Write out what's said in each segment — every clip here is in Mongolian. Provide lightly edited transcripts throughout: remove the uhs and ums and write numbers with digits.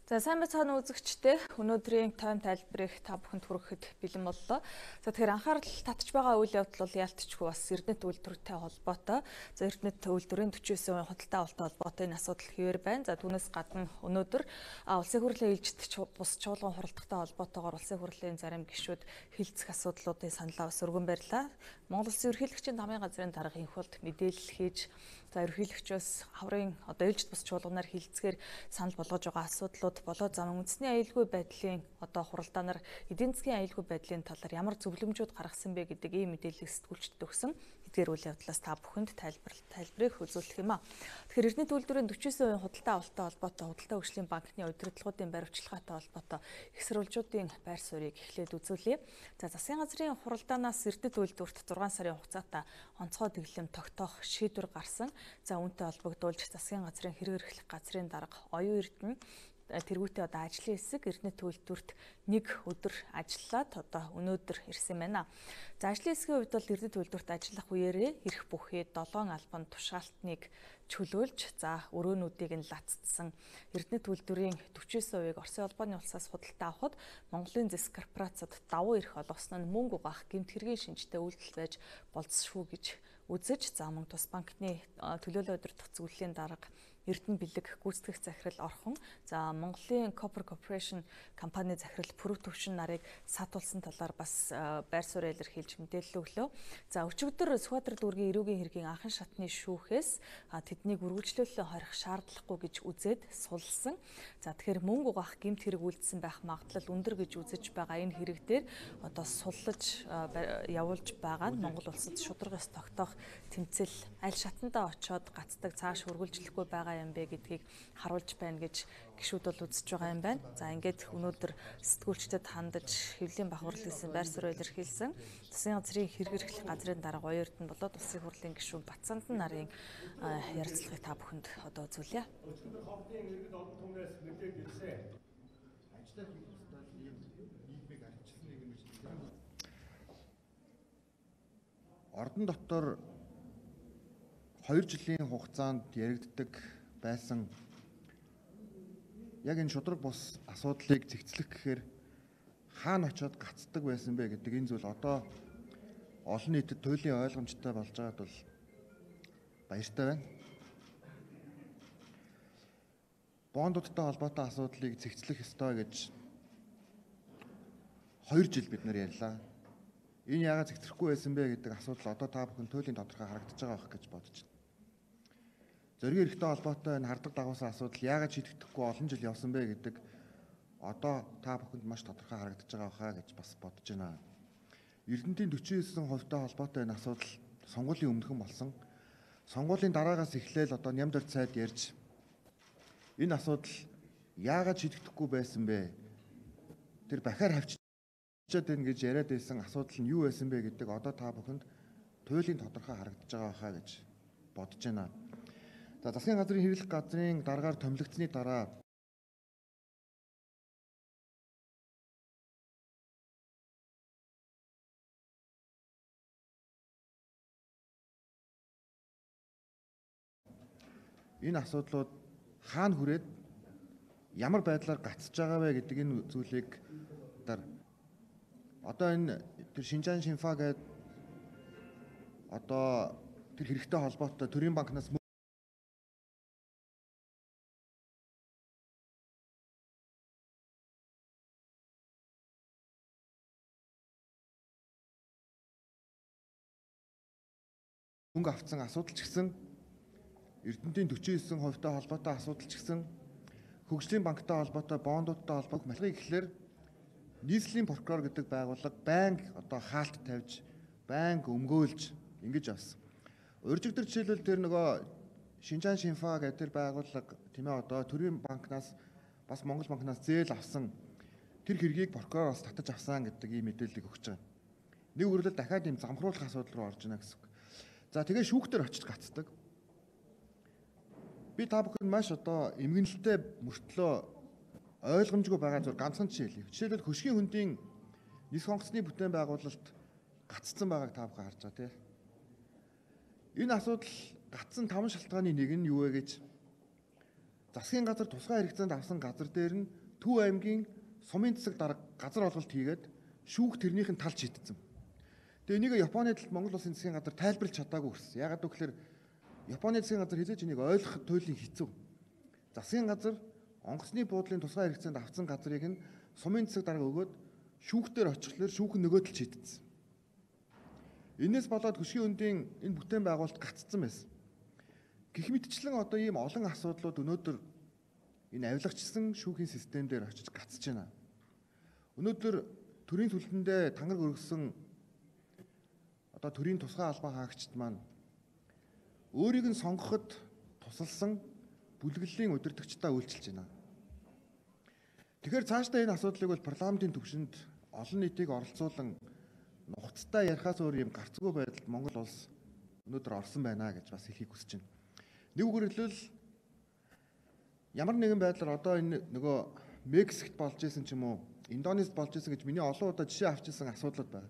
За сайн байцгаана үзэгчдээ. Өнөөдрийн тайм тайлбарыг та бүхэнд хүрэхэд бэлэн боллоо. За тэгэхээр анхаарал татж байгаа үйл явдал бол яалтчгүй бас Эрдэнэт үйлдвэртэй холбоотой. За Эрдэнэт үйлдвэрийн 49% худалдаа авалттай холбоотой энэ асуудал хэвээр байна. За түүнээс гадна өнөөдөр улсын хурлын ээлжид бус чуулган хуралдахтай холбоотойгоор улсын хурлын зарим гишүүд хилцэх асуудлуудын саналаа бас өргөн барьлаа. Монгол Улсын ерөнхийлөгчийн намын газрын дарга инх болд мэдээлэл хийж ерөнхийлөгчөөс хаврын ээлжид бус чуулганаар хилцгээр санал болгож байгаа асуудлууд болоо зам үндэсний аюулгүй байдлын хуралдаанаар эдийн засгийн аюулгүй байдлын талаар ямар зөвлөмжүүд гаргасан бэ гэдэг ийм мэдээллийг сэтгүүлчдэд өгсөн. Эдгээр үйл явдлаас та бүхэнд тайлбарыг үзүүлэх юм а. Тэгэхээр Эрдэнэт үйлдвэрийн 49% худалдаа авалттай холбоотой худалдаа хөгжлийн банкны удирдлагуудын баримтчилгаатай холбоотой их сурвалжуудын байр суурийг эхлээд үзүүлье. За засгийн газрын хуралдаанаас Эрдэнэт үйлдвэрт 6 сарын хугацаатай онцгой дэглэм тогтоох шийдвэр гарсан. За үүнтэй холбогдуулж засгийн газрын хэрэг эрхлэх газрын дарга Оюун Эрдэнэ тэргүүтээ одоо ажлын хэсэг Эрдэнэт үйлдвэрт нэг өдөр ажиллаад одоо өнөөдөр ирсэн байна. За ажлын хэсгийн хувьд бол Эрдэнэт үйлдвэрт ажиллах үеэрээ эрх бүхий 7 албан тушаалтныг чөлөөлж за өрөөнүүдийг нь лацдсан Эрдэнэт үйлдвэрийн 49%-ийг Оросын улбаны улсаас худалдаа авахд Монголын зэс корпорацид давуу эрх олгосон нь мөнгө угаах гэмт хэргийн шинжтэй үйлдэл байж болцсохгүй гэж үзэж за мөн тус банкны төлөөлөл удирдах зөвлөлийн дарга Эрдэнэ бэлэг гүйцэтгэх захирал орхон за Монголын Copper Corporation компани захирал Пүрэв Төвшин нарыг саатуулсан талаар бас байр суурь илэрхийлж мэдээлэл өглөө. За өчигдөр Сүхбаатар дүүргийн эрүүгийн хэргийн анхан шатны шүүхээс тэднийг үргэлжлүүлэн хорих шаардлагагүй гэж үзээд сулсан. За тэгэхээр мөнгө угаах гэмт хэрэг үйлдсэн байх магадлал өндөр гэж үзэж байгаа энэ хэрэг дээр одоо суллаж явуулж байгаа нь Монгол улсад шударгаас тогтоох тэмцэл аль шатандаа очоод гацдаг цааш үргэлжлэхгүй байгаа юм бэ гэдгийг харуулж байна гэж гишүүд бол үзэж байгаа юм байна. За ингээд өнөөдөр сэтгүүлчдэд хандаж хэвлэлийн бахварл гэсэн байр суурь илэрхийлсэн. Засгийн газрын хэрэг эрхлэх газрын дарга Оюун Эрдэнэ болоод улсын хурлын гишүүн Батцаандан нарын ярилцлагыг та бүхэнд одоо үзүүлье. Ордон дотор 2 жилийн хугацаанд яригддаг байсан яг энэ шудраг бус асуудлыг зэгцлэх гэхээр хаана очиод гацдаг байсан бэ гэдэг энэ зүйл одоо олон нийтэд туйлын ойлгомжтой болж байгаад бол баяртай байна. Бондуудтай холбоотой асуудлыг зэгцлэх ёстой гэж 2 жил бид нар ярьлаа. Энэ яагаад зэгцрэхгүй байсан бэ гэдэг асуудал одоо та бүхэн туйлын тодорхой харагдаж байгаа байх гэж бодож байна. Зориг эрхтэй холбоотой энэ хардаг дагуулсан асуудал яагаад шийдэгдэхгүй олон жил явсан бэ гэдэг одоо та бүхэнд маш тодорхой харагдаж байгаа хаа гэж бас бодож байна. Эрдэнэтийн 49% холбоотой энэ асуудал сонгуулийн өмнөхөн болсон. Сонгуулийн дараагаас эхлээл одоо нямдалт сайд ярьж энэ асуудал яагаад шийдэгдэхгүй байсан бэ? Тэр бахаар хавчиж байна гэж яриад байсан асуудал нь юу байсан бэ гэдэг одоо та бүхэнд туйлын тодорхой харагдаж байгаа хаа гэж бодож байна. За засгийн газрын хэрэглэх газрын дараагаар томилогдсны дараа энэ асуудлууд хаана хүрээд ямар байдлаар гацж байгаа вэ гэдэг энэ зүйлийг одоо энэ тэр Шинжаан Шинфа гэдэг одоо тэр хэрэгтэй холбоотой төрийн банкнаас мөнгө авсан асуудал ч гэсэн Эрдэнэтийн 49% холбоотой асуудал ч гэсэн хөгжлийн банктай холбоотой бондуудтай холбоотой малгыг гэхлээр нийслэлийн прокурор гэдэг байгууллага байнга одоо хаалт тавьж байнга өмгөөлж ингэж авсан. Урьжигдэр жишээлбэл тэр нөгөө Шинжаан Шинфа гэдэг тэр байгууллага тийм ээ одоо төрийн банкнаас бас Монгол банкнаас зээл авсан тэр хэргийг прокурор бас татаж авсан гэдэг ийм мэдээллийг өгч байгаа. Нэг үрлэл дахиад ийм замхруулах асуудал руу орж ийнэ гэсэн үг. За тэгээ шүүхтэр очиж гацдаг. Би та бүхэнд маш одоо эмгэнэлтэй мөртлөө ойлгомжгүй байгаа зүйл ганцхан жишээ хэлье. Жишээлбэл хөшгийн хөндийн нис хонгоцны бүтээн байгуулалт гацсан байгааг та бүхэн харж байгаа тийм. Энэ асуудал гацсан 5 шалтгааны нэг нь юу вэ гэж засгийн газар тусгай хэрэгцээнд авсан газар дээр нь Төв аймгийн сумын засаг дарга газар олголт хийгээд шүүх тэрнийх нь талж шийдсэн. Тэгээ энийг Японы талд Монгол улсын засгийн газар тайлбарлаж чадаагүй гэсэн. Ягаад гэвэл Японы засгийн газар хизээч энийг ойлгох туйлын хэцүү. Засгийн газар онгоцны буудлын тусгай хэрэгцээнд авсан газрыг нь сумын засаг дарга өгөөд шүүхтэр очихлоор шүүх нь нөгөө талд шийдсэн. Энээс болоод хөшгийн үндийн энэ бүтээн байгуулалт гаццсан байсан. Гэх мэтчлэн одоо ийм олон асуудлууд өнөөдөр энэ авилгачсан шүүхийн систем дээр очиж гацж байна. Өнөөдөр төрийн сүлдэндээ тангараг өргөсөн одоо төрийн тусгай албан хаагчид маань өөрийг нь сонгоход тусалсан бүлэглэлийн удирдагчдаа үйлчилж байна. Тэгэхээр цаашдаа энэ асуудлыг бол парламентын түвшинд олон нийтийг оролцуулан нухацтай ярихаас өөр юм гарцгүй байдалд Монгол улс өнөөдөр орсон байна гэж бас хэлхийг хүсэж байна. Нэг үгээр хэлбэл ямар нэгэн байдлаар одоо энэ нөгөө Мексикт болж исэн ч юм уу, Индонезид болж исэн гэж миний олон удаа жишээ авч исэн асуудлууд байна.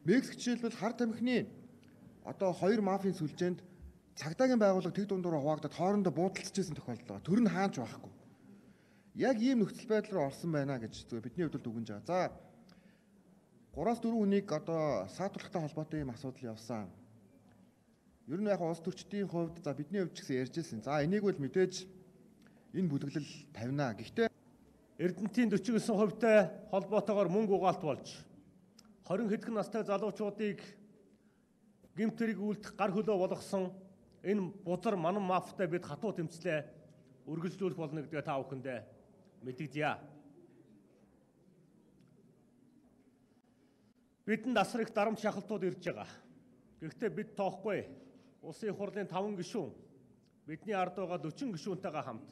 Мексик жишээлбэл хар тамхины одоо хоёр мафийн сүлжээнд цагдаагийн байгууллага тэг дундуур хуваагдаад хоорондоо буудалцж исэн тохиолдол байгаа. Төр нь хаанч байхгүй. Яг ийм нөхцөл байдал руу орсон байна гэж бидний хувьд дүгнэж байгаа. За 3-4 хүнийг одоо саатуулахтай холбоотой ийм асуудал явсан. Ер нь яг улс төрчдийн хувьд за бидний хувьд ч гэсэн ярьж ирсэн. За энийг бол мэдээж энэ бүлэглэл тавина. Гэхдээ Эрдэнэтийн 49%-тай холбоотойгоор мөнгө угаалт болж 20 хэдхэн настай залуучуудыг гэмт хэрэг үйлдэх гар хөлөө болгосон энэ бузар манан мафтай бид хатуу тэмцлээ үргэлжлүүлэх болно гэдгээ та бүхэндээ мэдэгдэе. Бидэнд асар их дарамт шахалтууд ирж байгаа. Гэхдээ бид тоохгүй. Улсын их хурлын 5 гишүүн бидний ард байгаа 40 гишүүнтэйгээ хамт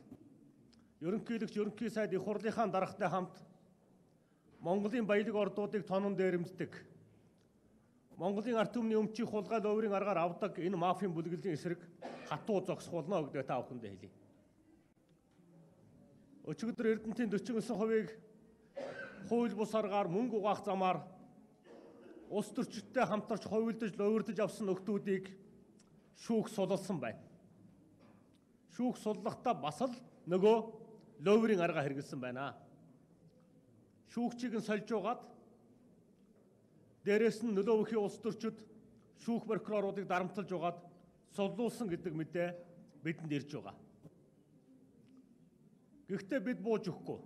ерөнхийлөгч ерөнхий сайд их хурлынхаа даргатай хамт Монголын баялаг ордуудыг тонон дээрэмддэг. Монголын ард түмний өмчийн хулгай ловрын аргаар авдаг энэ мафийн бүлэглэлийн эсрэг хатуу зогсохолно гэдгээ та бүхэндээ хэлье. Өчигдөр Эрдэнэтийн 49%-ийг хууль бус аргаар мөнгө угаах замаар улс төрчидтэй хамтарч хувилдаж ловирдож авсан нөхдүүдийг шүүх суллсан байна. Шүүх суллахдаа бас л нөгөө ловрын арга хэрэгэлсэн байна. Шүүгчийг нь сольж угаад дээрээс нь нөлөөвөхийн улс төрчид шүүх прокуроруудыг дарамтлаж угаад суллуулсан гэдэг мэдээ бидэнд ирж байгаа. Гэхдээ бид бууж өгөхгүй.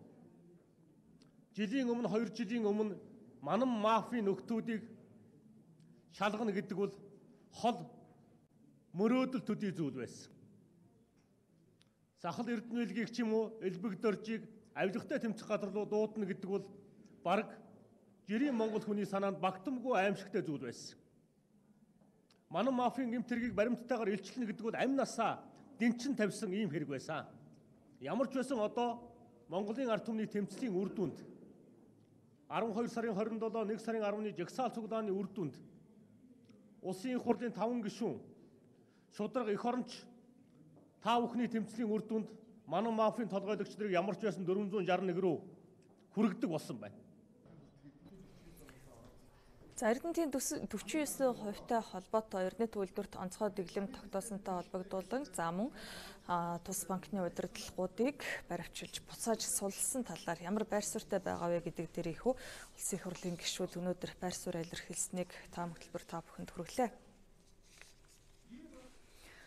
Жилийн өмнө 2 жилийн өмнө манан мафийн нөхдүүдийг шалгана гэдэг бол хол мөрөөдөл төдий зүйл байсан. Сахал Эрдэнэлгийг ч юм уу элбэг доржийг авилгатай тэмцэх газар руу дуудана гэдэг бол бараг жирийн Монгол хүний санаанд багтамгүй аимшигтай зүйл байсан. Манан мафийн гэмт хэргийг баримттайгаар илчлэнэ гэдэг бол амь насаа дэнчин тавьсан ийм хэрэг байсан. Ямар ч байсан одоо Монголын ард түмний тэмцлийн үр дүнд 12 сарын 27, 1 сарын 10-ны жагсаал цуглааны үр дүнд улсын их хурлын 5 гишүүн шударга эх оронч та бүхний тэмцлийн үр дүнд манан мафийн толгойлогч нарыг ямар ч байсан 461 рүү хүргэдэг болсон байна. За Эрдэнэтийн 49%-тай холбоотой Эрдэнэт үйлдвэрт онцгой дэглэм тогтоосонтой холбогдуулан за мөн тус банкны удирдлагуудыг баривчилж буцааж суллсан талаар ямар байр суурьтай байгаа вэ гэдэг дээр ихүү улсын их хурлын гишүүд өнөөдөр байр суурь илэрхийлсэнийг таам хөтөлбөр та бүхэнд хүргэлээ.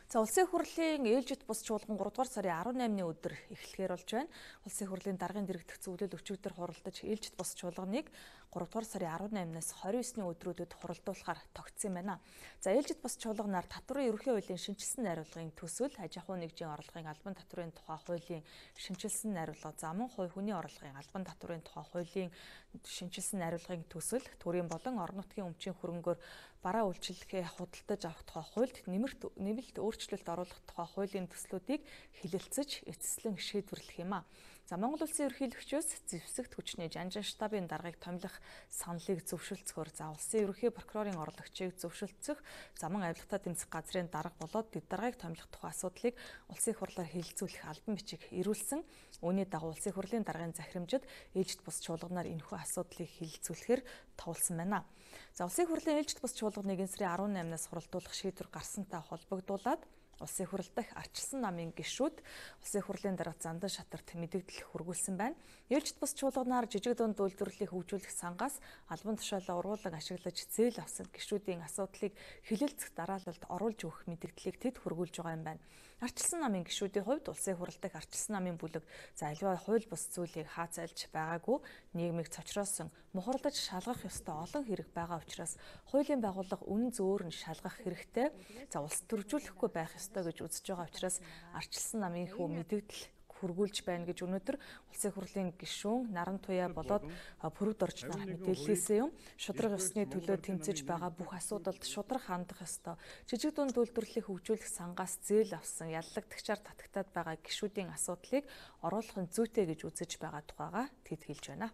За улсын хурлын ээлжит бус чуулган 3 дугаар сарын 18-ны өдөр эхлэхээр болж байна. Улсын хурлын даргын дэргэдэх зөвлөл өчигдөр хуралдаж ээлжит бус чуулганыг 3 дугаар сарын 18-наас 29-ны өдрүүдэд хуралдуулахаар тогтсон юм байна. За ээлжит бус чуулганаар татварын ерөнхий хуулийн шинжилсэн найруулгын төсөв, аж ахуйн нэгжийн орлогын албан татварын тухай хуулийн шинжилсэн найруулга, замун хувь хүний орлогын албан татварын тухай хуулийн шинжилсэн найруулгын төсөл, төрийн болон орон нутгийн өмчийн хөрөнгөөр бараа үйлчлэгээ худалдаж авах тухай хуульд нэмэлт өөрчлөлт оруулах тухай хуулийн төслүүдийг хэлэлцэж эцэслэн шийдвэрлэх юм а. За Монгол улсын ерөнхийлөгчөөс зэвсэгт хүчний жанжин штабын даргаыг томилох саналыг зөвшөлдсөөр за улсын ерөнхий прокурорын орлогчийг зөвшөлдсөх заман авилгатай тэмцэх газрын дарга болоод дэд даргаыг томилох тухай асуудлыг улсын их хурлаар хэлэлцүүлэх албан бичиг ирүүлсэн. Үүний дагуу улсын их хурлын даргын захирамжид ээлжит бус чуулганаар энэхүү асуудлыг хэлэлцүүлэхээр товлсон байна. За улсын их хурлын ээлжит бус чуулганыг энэ сарын 18-наас хуралдуулах шийдвэр гарсантай холбогдуулаад Улсын хурал дахь ардчилсан намын гишүүд улсын хурлын дарга Зандан шатарт мэдээлэл хүргүүлсэн байна. Ээлжид бус чуулганаар жижиг дунд үйлдвэрлэлийг хөгжүүлэх сангаас албан тушаалаа ургуулan ашиглаж зээл авсан гишүүдийн асуудлыг хилэлцэх дараалалд оруулж өгөх мэдээллийг тэд хүргүүлж байгаа юм байна. Ардчилсан намын гишүүдийн хувьд улсын хурал дахь ардчилсан намын бүлэг аливаа хууль бус зүйлийг хаацайлж байгаагүй, нийгмийг цочроосон, мухарлаж шалгах ёстой олон хэрэг байгаа учраас хуулийн байгууллага үнэн зөөр нь шалгах хэрэгтэй. За улс төржүүлэхгүй байх ёстой гэж үзэж байгаа учраас ардчилсан намын хүү мэдээлэл хүргүүлж байна гэж өнөөдөр улсын хурлын гишүүн Наран Туяа болоод Пүрэвд орж нарах мэдээлэлсэн юм. Шудраг ёсны төлөө тэмцэж байгаа бүх асуудалд шудраг хандах ёстой. Жижиг дунд үйлдвэрлэлийг хөгжүүлэх сангаас зээл авсан яллагдагчаар татагтаад байгаа гишүүдийн асуудлыг оруулах нь зүйтэй гэж үзэж байгаа тухайга тэд хэлж байна.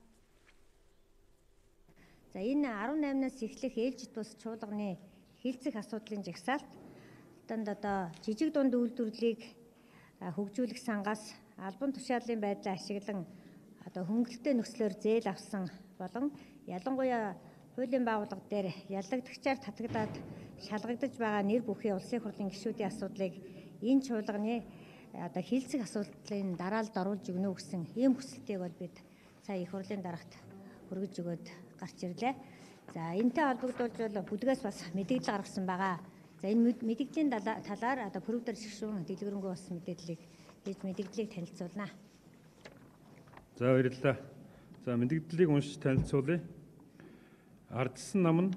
За энэ 18-наас эхлэх ээлжид бус чуулганы хилцэх асуудлын жагсаалтанд одоо жижиг дунд үйлдвэрлэлийг хөгжүүлэх сангаас албан тушаалын байдлаа ашиглан одоо хөнгөлөлттэй нөхцлөөр зээл авсан болон ялангуяа хуулийн байгууллага дээр яллагдагчаар татагдаад шалгагдаж байгаа нэр бүхий улсын хурлын гишүүдийн асуудлыг энэ чуулганы одоо хилцэх асуудлын дараалд оруулж өгнө гэсэн ийм хүсэлтийг бол бид сая их хурлын дарагт хүргэж өгөөд гарч ирлээ. За энэтэй холбогдуулж бол бүлгээс бас мэдээлэл гаргасан байгаа. За энэ мэдээллийн талаар одоо Пүрэвд орж гишүүн дэлгэрэнгүй бас мэдээллийг хийж мэдээллийг танилцуулнаа. За баярлалаа. За мэдээллийг уншиж танилцуулъя. Ардчилсан нам нь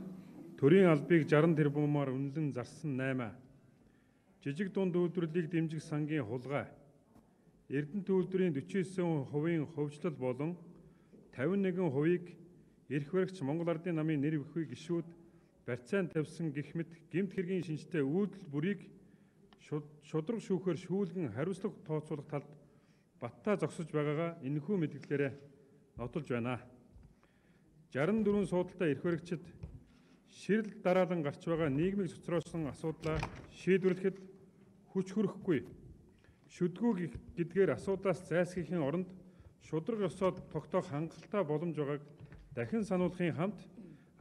төрийн албыг 60 тэрбумаар үнэлэн зарсан 8. Жижиг дунд үйлдвэрлэлийг дэмжих сангийн хулгай. Эрдэнэт үйлдвэрийн 49% хувьчлал болон 51%-ийг эрх баригч Монгол Ардын намын нэр бүхий гишүүд барьцаан тавьсан гэх мэт гэмт хэргийн шинжтэй үйлдэл бүрийг шудраг шүүхээр шүүлгэн хариуцлага тооцоолох талд баттаа зогсож байгаагаа энэхүү мэдээллээрээ нотолж байна. 64 суудалтай эрх баригчид ширэл дараалан гарч байгаа нийгмийг цоцроосон асуудлаа шийдвэрлэхэд хүч хүрэхгүй. Шүдгүү гэдгээр асуудлаас зайлсхийхийн оронд шудраг ёсоод тогтоох хангалттай боломж байгааг дахин сануулахын хамт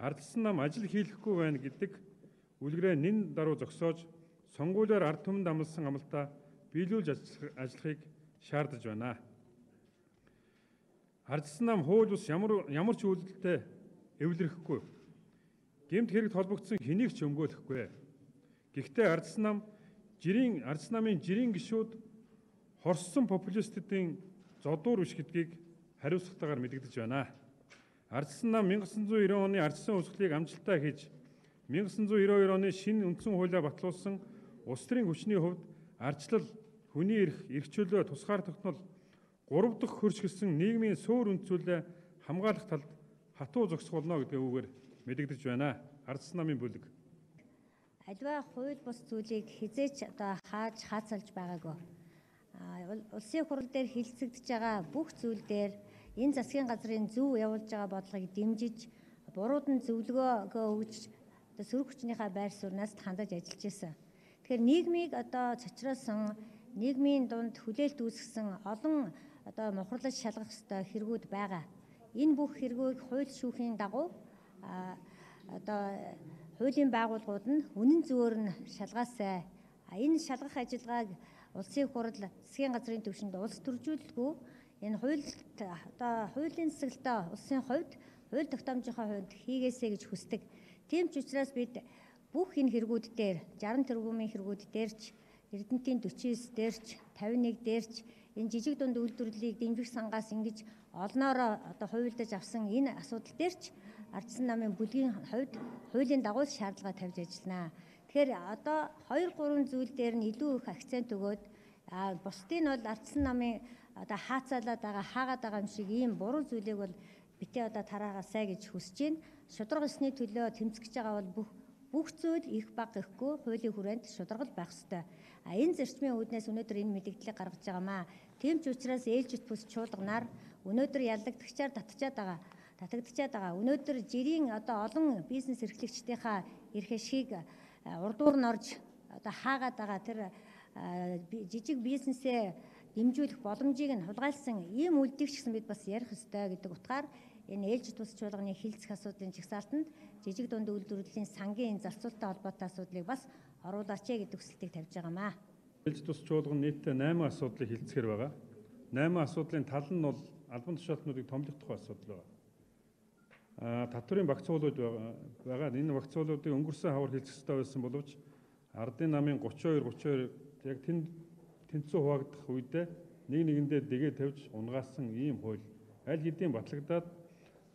ардчилсан нам ажил хийлэхгүй байна гэдэг үлгэрээ нэн даруй зогсоож сонгуулиар ард түмэнд амласан амлалтаа биелүүлж ажиллахыг шаардаж байна. Ардчилсан нам хууль бус ямар ч үйлдэлтэй эвлэрэхгүй. Гэмт хэрэгт холбогдсон хэнийг ч өмгөөлөхгүй. Гэхдээ ардчилсан намын жирийн гишүүд хорссон популистуудын зодуур биш гэдгийг хариуцлагатайгаар мэдэгдэж байна. Ардчилсан нам 1990 оны ардчилсан үүсгэлийг амжилттай хийж 1992 оны шинэ үндсэн хуулиа батлуулсан улс төрийн хүчний хувьд ардчлал, хүний эрх чөлөө, тусгаар тогтнол 3 дахь хөрч гисэн нийгмийн суур үндсүүлээ хамгаалах талд хатуу зогсох болно гэдэг үгээр мэдэгдэж байна. Ардчилсан намын бүлэг. Аливаа хууль бус зүйлийг хизээч одоо хаацалж байгаагүй. Улсын хурал дээр хилцэгдэж байгаа бүх зүйл дээр энэ засгийн газрын зөв явуулж байгаа бодлогыг дэмжиж, бурууд нь зөвлөгөөгөө өгж сөрөг хүчнийхээ байр сууриас хандаж ажиллаж байсан. Тэгэхээр нийгмийг одоо цочроосон, нийгмийн дунд хүлээлт үүсгэсэн олон одоо мухарлаж шалгах ёстой хэрэгүүд байгаа. Энэ бүх хэрэгүүд хууль шүүхийн дагуу одоо хуулийн байгууллагууд нь үнэн зөвөөр нь шалгаасай. Энэ шалгах ажиллагааг улсын хурал засгийн газрын түвшинд улс төржүүлэлгүй энэ хуулийн засаглалтаа улсын хувьд хууль тогтоомжийнхаа хувьд хийгээсэй гэж хүсдэг. Тийм ч учраас бид бүх энэ хэрэгүүд дээр 60 тэрбумын хэрэгүүд дээрч Эрдэнэтийн 49 дээрч 51 дээрч энэ жижиг дунд үйлдвэрлэлийг дэмжих сангаас ингэж олноороо одоо хувилдаж авсан энэ асуудал дээрч ардчилсан намын бүлгийн хувьд хуулийн дагуу шаардлага тавьж ажиллана. Тэгэхээр одоо 2-3 зүйл дээр нь илүү их акцент өгөөд бусдын бол ардчилсан намын одоо хаацаалаад байгаа хаагаад байгаа юм шиг ийм буруу зүйлийг бол битээ одоо тараагаасай гэж хүсэж байна. Шудраг ёсны төлөө тэмцэж байгаа бол бүх зүйл их баг гэхгүй хуулийн хүрээнд шударгал байх ёстой. Энэ зарчмын үүднээс өнөөдөр энэ мэдээллийг гаргаж байгаамаа. Тийм ч учраас ээлжит бус чуулганаар өнөөдөр яллагдагчаар татагдчихад байгаа. Өнөөдөр жирийн одоо олон бизнес эрхлэгчдийнхаа эрх ашгийг урдуур нь орж одоо хаагаад байгаа тэр жижиг бизнесээ дэмжүүлэх боломжийг нь хулгайлсан ийм үйлдэлийг ч гэсэн бид бас ярих ёстой гэдэг утгаар энэ ээлжит бус чуулганы хилцэх асуудлын жагсаалтанд жижиг дунд үйлдвэрлэлийн сангийн зарцуулалттай холбоотой асуудлыг бас оруулаач гэдэг хүсэлтийг тавьж байгаамаа. Ээлж тус чуулган нийтдээ 8 асуудлыг хилцэхэр байгаа. 8 асуудлын тал нь бол албан тушаалтнуудыг томлох тухай асуудал байна. Татврын багц уулууд байгаа. Энэ багц уулуудыг өнгөрсөн хавар хилцэх ёстой байсан боловч ардын намын 32 яг тэнцүү хуваагдах үедээ нэг нэгэндээ дэгээ тавьж унгаасан ийм хууль аль хэдийн батлагдаад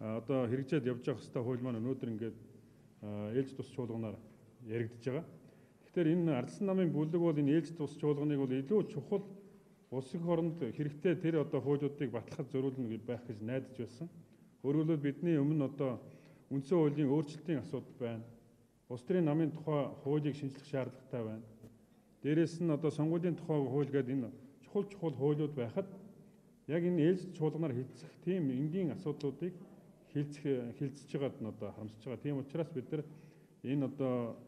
одоо хэрэгжээд явж байгаа хэвээр хууль маань өнөөдөр ингээд ээлж тус чуулганаар яригдж байгаа. Тэгэхээр энэ ардсан намын бүлэг бол энэ ээлж тус чуулганыг бол илүү чухал улс их оронд хэрэгтэй тэр одоо хуулиудыг батлахад зориулна байх гэж найдаж байсан. Өөрөөр хэлбэл бидний өмнө одоо үндсэн хуулийн өөрчлөлтийн асуудал байна. Улс төрийн намын тухай хуулийг шинжлэх шаардлагатай байна. Дээрээс нь одоо сонгуулийн тухай хууль гэдэг энэ чухал хуулиуд байхад яг энэ ээлж чуулганаар хилцэх тийм энгийн асуудлуудыг хилцэж байгаад нь одоо харамсаж байгаа. Тийм учраас бид нар энэ одоо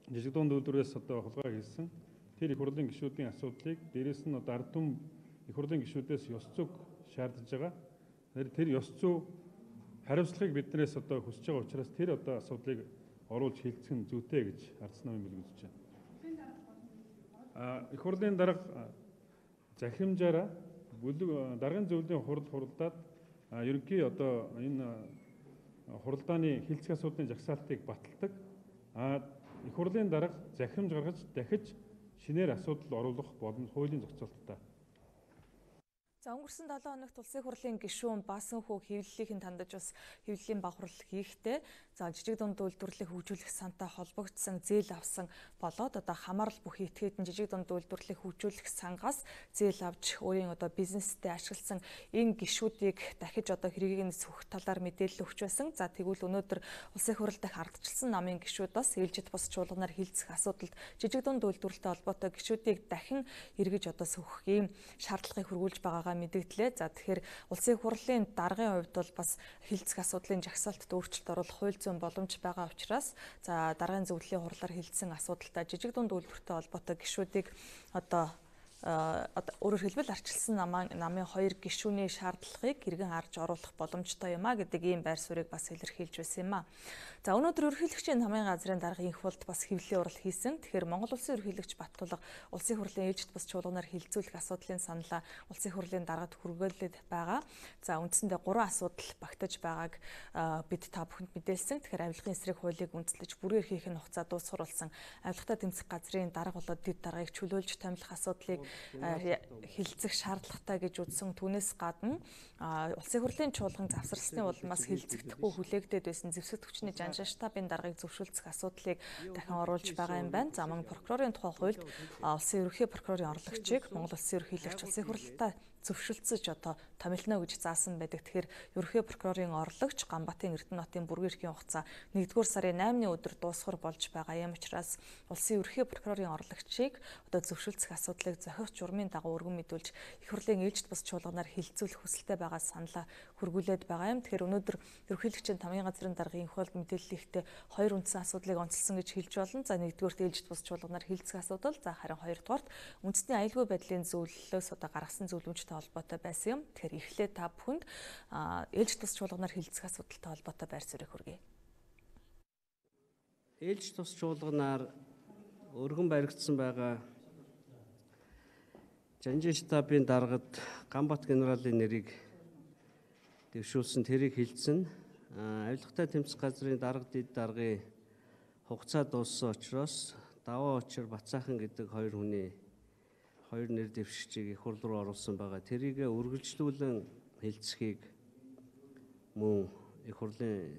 жижиг дунд үйлдвэрээс одоо хулгай хийсэн тэр их хурлын гишүүдийн асуудлыг дээрээс нь одоо ард түмэн их хурлын гишүүдээс ёс зүйг шаардж байгаа. Тэр ёс зүй хариуцлагыг биднээс одоо хүсэж байгаа учраас тэр одоо асуудлыг оруулж хилцэх нь зүйтэй гэж ардсан намын бүлэг үзэж байна. Их хурлын дарга захирамжаараа бүлэг даргын зөвлөлийн хуралдаад ерөнхий одоо энэ хуралдааны хилцэх асуудлын жагсаалтыг баталдаг. Их хурлын дарга захирамж гаргаж дахиж шинээр асуудал оруулах боломж хуулийн зохицуулалттай. За өнгөрсөн 7 хоногт улсын хурлын гишүүн Баасанхүү хэвлэлийн тандаж бас хэвлэлийн багварл хийхдээ за жижиг дунд үйлдвэрлэлийг хөгжүүлэх сантай холбогдсон зээл авсан болоод одоо хамаарал бүх этгээдэн жижиг дунд үйлдвэрлэлийг хөгжүүлэх сангаас зээл авч өөрийн одоо бизнестэй ашигласан энэ гишүүдийг дахиж одоо хэргийг нь сөхөх талаар мэдээлэл өгч байсан. За тэгвэл өнөөдөр улсын хурал дахь ардчилсан намын гишүүд бас ээлжид бус чуулганаар хилцэх асуудалд жижиг дунд үйлдвэрлэлтэй холбоотой гишүүдийг дахин эргэж одоо сөхөх ийм шаардлагыг хөрвүүлж байгаагаа мэдээллээ. За тэгэхээр улсын хурлын даргын хувьд бол бас хилцэх асуудлын жагсаалтад өөрчлөлт оруулах хууль зүйн боломж байгаа учраас за даргын зөвлөлийн хурлаар хилцсэн асуудалтай жижиг дунд үйлдвэртэй холбоотой гишүүдийг одоо өөрөөр хэлбэл арчилсан намын 2 гишүүний шаардлагыг иргэн харж оруулах боломжтой юм а гэдэг ийм байр суурийг бас илэрхийлж байсан юм а. За өнөөдөр ерөнхийлөгчийн намын газрын даргын инх болд бас хэвлэлийн урал хийсэн. Тэгэхээр Монгол улсын ерөнхийлөгч Баттулга улсын хурлын ээлжид бас чуулганаар хилцүүлэх асуудлын саналаа улсын хурлын даргад хүргээлээд байгаа. За үндсэндээ 3 асуудал багтаж байгааг бид та бүхэнд мэдээлсэн. Тэгэхээр авилгын эсрэг хуулийг үндэслэж бүрээр хийх нь хугацаа дуусгаруулсан авилгатай тэмцэх газрын дарга болоод дэд даргаыг чөлөөлж томилох асуудлыг хилцэх шаардлагатай гэж үзсэн. Түүнээс гадна улсын хурлын чуулган завсарласны улмаас хилцэгдэхгүй хүлээгдээд байсан зэвсэг төвчний штабын даргыг зөвшөлдсөх асуудлыг дахин оруулж байгаа юм байна. За мөн прокурорын тухай хуульд улсын ерөнхий прокурорын орлогчийг Монгол улсын ерөнхийлөгч улсын хурлаа зөвшөлдсөж одоо томилно гэж заасан байдаг. Тэгэхээр ерөнхий прокурорын орлогч Ганбаатарын Эрдэнэтийн бүргэрхийн хугацаа 1-р сарын 8-ны өдөр дуусгар болж байгаа юм учраас улсын ерөнхий прокурорын орлогчийг одоо зөвшөлдсөх асуудлыг зохиох журмын дагуу өргөн мэдүүлж их хурлын ээлжид бус чуулганаар хилцүүлэх хүсэлтэй байгаа саналаа хөргүүлээд байгаа юм. Тэгэхээр өнөөдөр ерөнхийлөгчийн намын газрын даргын инх болд мэдээллийгтээ 2 үндсэн асуудлыг онцлсон гэж хэлж болно. За 1-р ээлжид бус чуулганаар хилцэх асуудал, за харин 2-р үндэсний аюулгүй байдлын зөвлөлөөс одоо гаргасан зөвлөмжтэй холбоотой байсан юм. Тэгэхээр эхлээд та бүхэнд ээлж тус чуулганаар хилцэх асуудалтай холбоотой байр суурийг хүргэе. Ээлж тус чуулганаар өргөн баригдсан байгаа Жанжин штабын даргад Ганбаат генералын нэрийг дэвшүүлсэн тэрийг хилцэн авилгатай тэмцэх газрын дарга дэд даргын хугацаа дууссан учраас даваа учир Бацаахан гэдэг 2 хүний 2 нэр дэвшигчийг их хурл руу оруулсан байгаа. Тэрийг үргэлжлүүлэн хилцхийг мөн их хурлын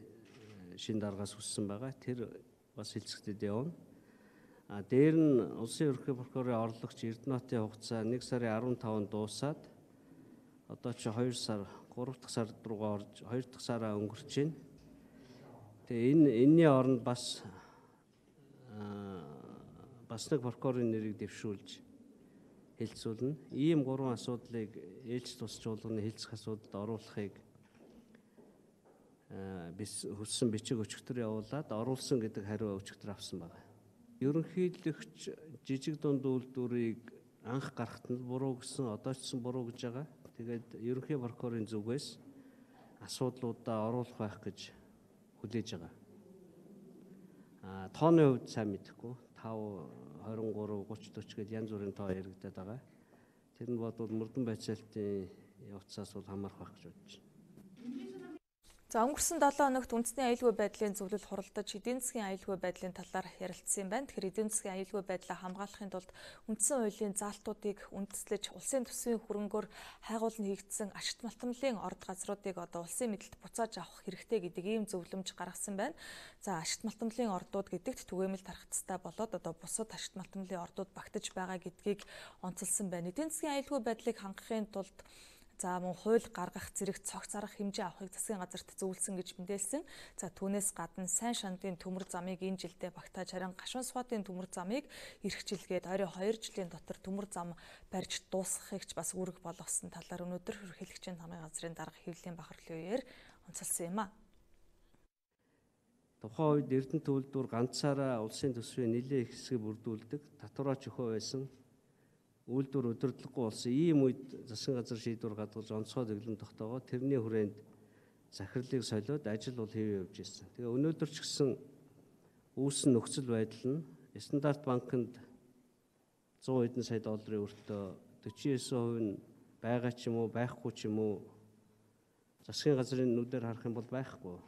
шин даргаас хүссэн байгаа. Тэр бас хилцэгдэд явна. Дээр нь улсын ерөнхий прокурорын орлогч Эрдэнэтийн хугацаа 1 сарын 15-нд дуусаад одоо ч 2 сар 3 дахь сар руугаа орж 2 дахь сараа өнгөрч байна. Тэгээ энэний оронд бас нэг прокурорын нэрийг дэвшүүлж хилцүүлнэ. Ийм 3 асуудлыг ээлж тус чуулганы хилцэх асуудалд оруулахыг хүссэн бичиг өчигдөр явуулаад оруулсан гэдэг хариу өчигдөр авсан байна. Ерөнхийлөгч жижиг дунд үйлдвэрийг анх гаргахад нь буруу гэсэн, одоо ч гэсэн буруу гэж байгаа. Тэгээд ерөнхий прокурорын зүгээс асуудлуудаа оруулах байх гэж хүлээж байгаа. Тооны хувьд сайн мэдэхгүй. 5, 23, 30, 40 гээд янз бүрийн тоо яригдаад байгаа. Тэр нь бодвол мөрдөн байцаалтын явцаас бол хамаарах байх гэж бодож байна. За өнгөрсөн 7 хоногт үндэсний аюулгүй байдлын зөвлөл хуралдаж эдийн засгийн аюулгүй байдлын талаар ярилцсан юм байна. Тэгэхээр эдийн засгийн аюулгүй байдлаа хамгаалахын тулд үндсэн хуулийн заалтуудыг үндэслэж улсын төсвийн хөрөнгөөр хайгуулн хийгдсэн ашигт малтмлын орд газруудыг одоо улсын мэдэлд буцааж авах хэрэгтэй гэдэг ийм зөвлөмж гаргасан байна. За ашигт малтмлын ордууд гэдэгт түгээмэл тархацтай болоод одоо бусад ашигт малтмлын ордууд багтаж байгаа гэдгийг онцолсон байна. Эдийн засгийн аюулгүй байдлыг хангахын тулд за мөн хууль гаргах зэрэг цогц арга хэмжээ авахыг засгийн газарт зөвлөсөн гэж мэдээлсэн. За түүнээс гадна сайн шандын төмөр замыг энэ жилдээ багтааж харин гашуун суатын төмөр замыг эх жилгээд ойрын 2 жилийн дотор төмөр зам барьж дуусгахыг ч бас үүрэг болгосон талаар өнөөдөр ерөнхийлөгчийн намын газрын дарга Хэвлэлийн бахархлын үеэр онцолсон юм а. Тухайн үед Эрдэнэ төлөвлөлтөөр ганцаараа улсын төсвийн нэлээд их хэсгийг бүрдүүлдэг татвараач өхөө байсан. Үйлдвэр удирдлаггүй болсон ийм үед засгийн газар шийдвэр гаргаж онцгой дэглэм тогтоогоо тэрний хүрээнд захирлыг солиод ажил бол хэвээ явж ирсэн. Тэгээ өнөөдөр ч гэсэн үүссэн нөхцөл байдал нь Стандарт банкнд 100 хэдэн сая долларын өртөө 49% нь байгаа ч юм уу байхгүй ч юм уу засгийн газрын нүдээр харах юм бол байхгүй.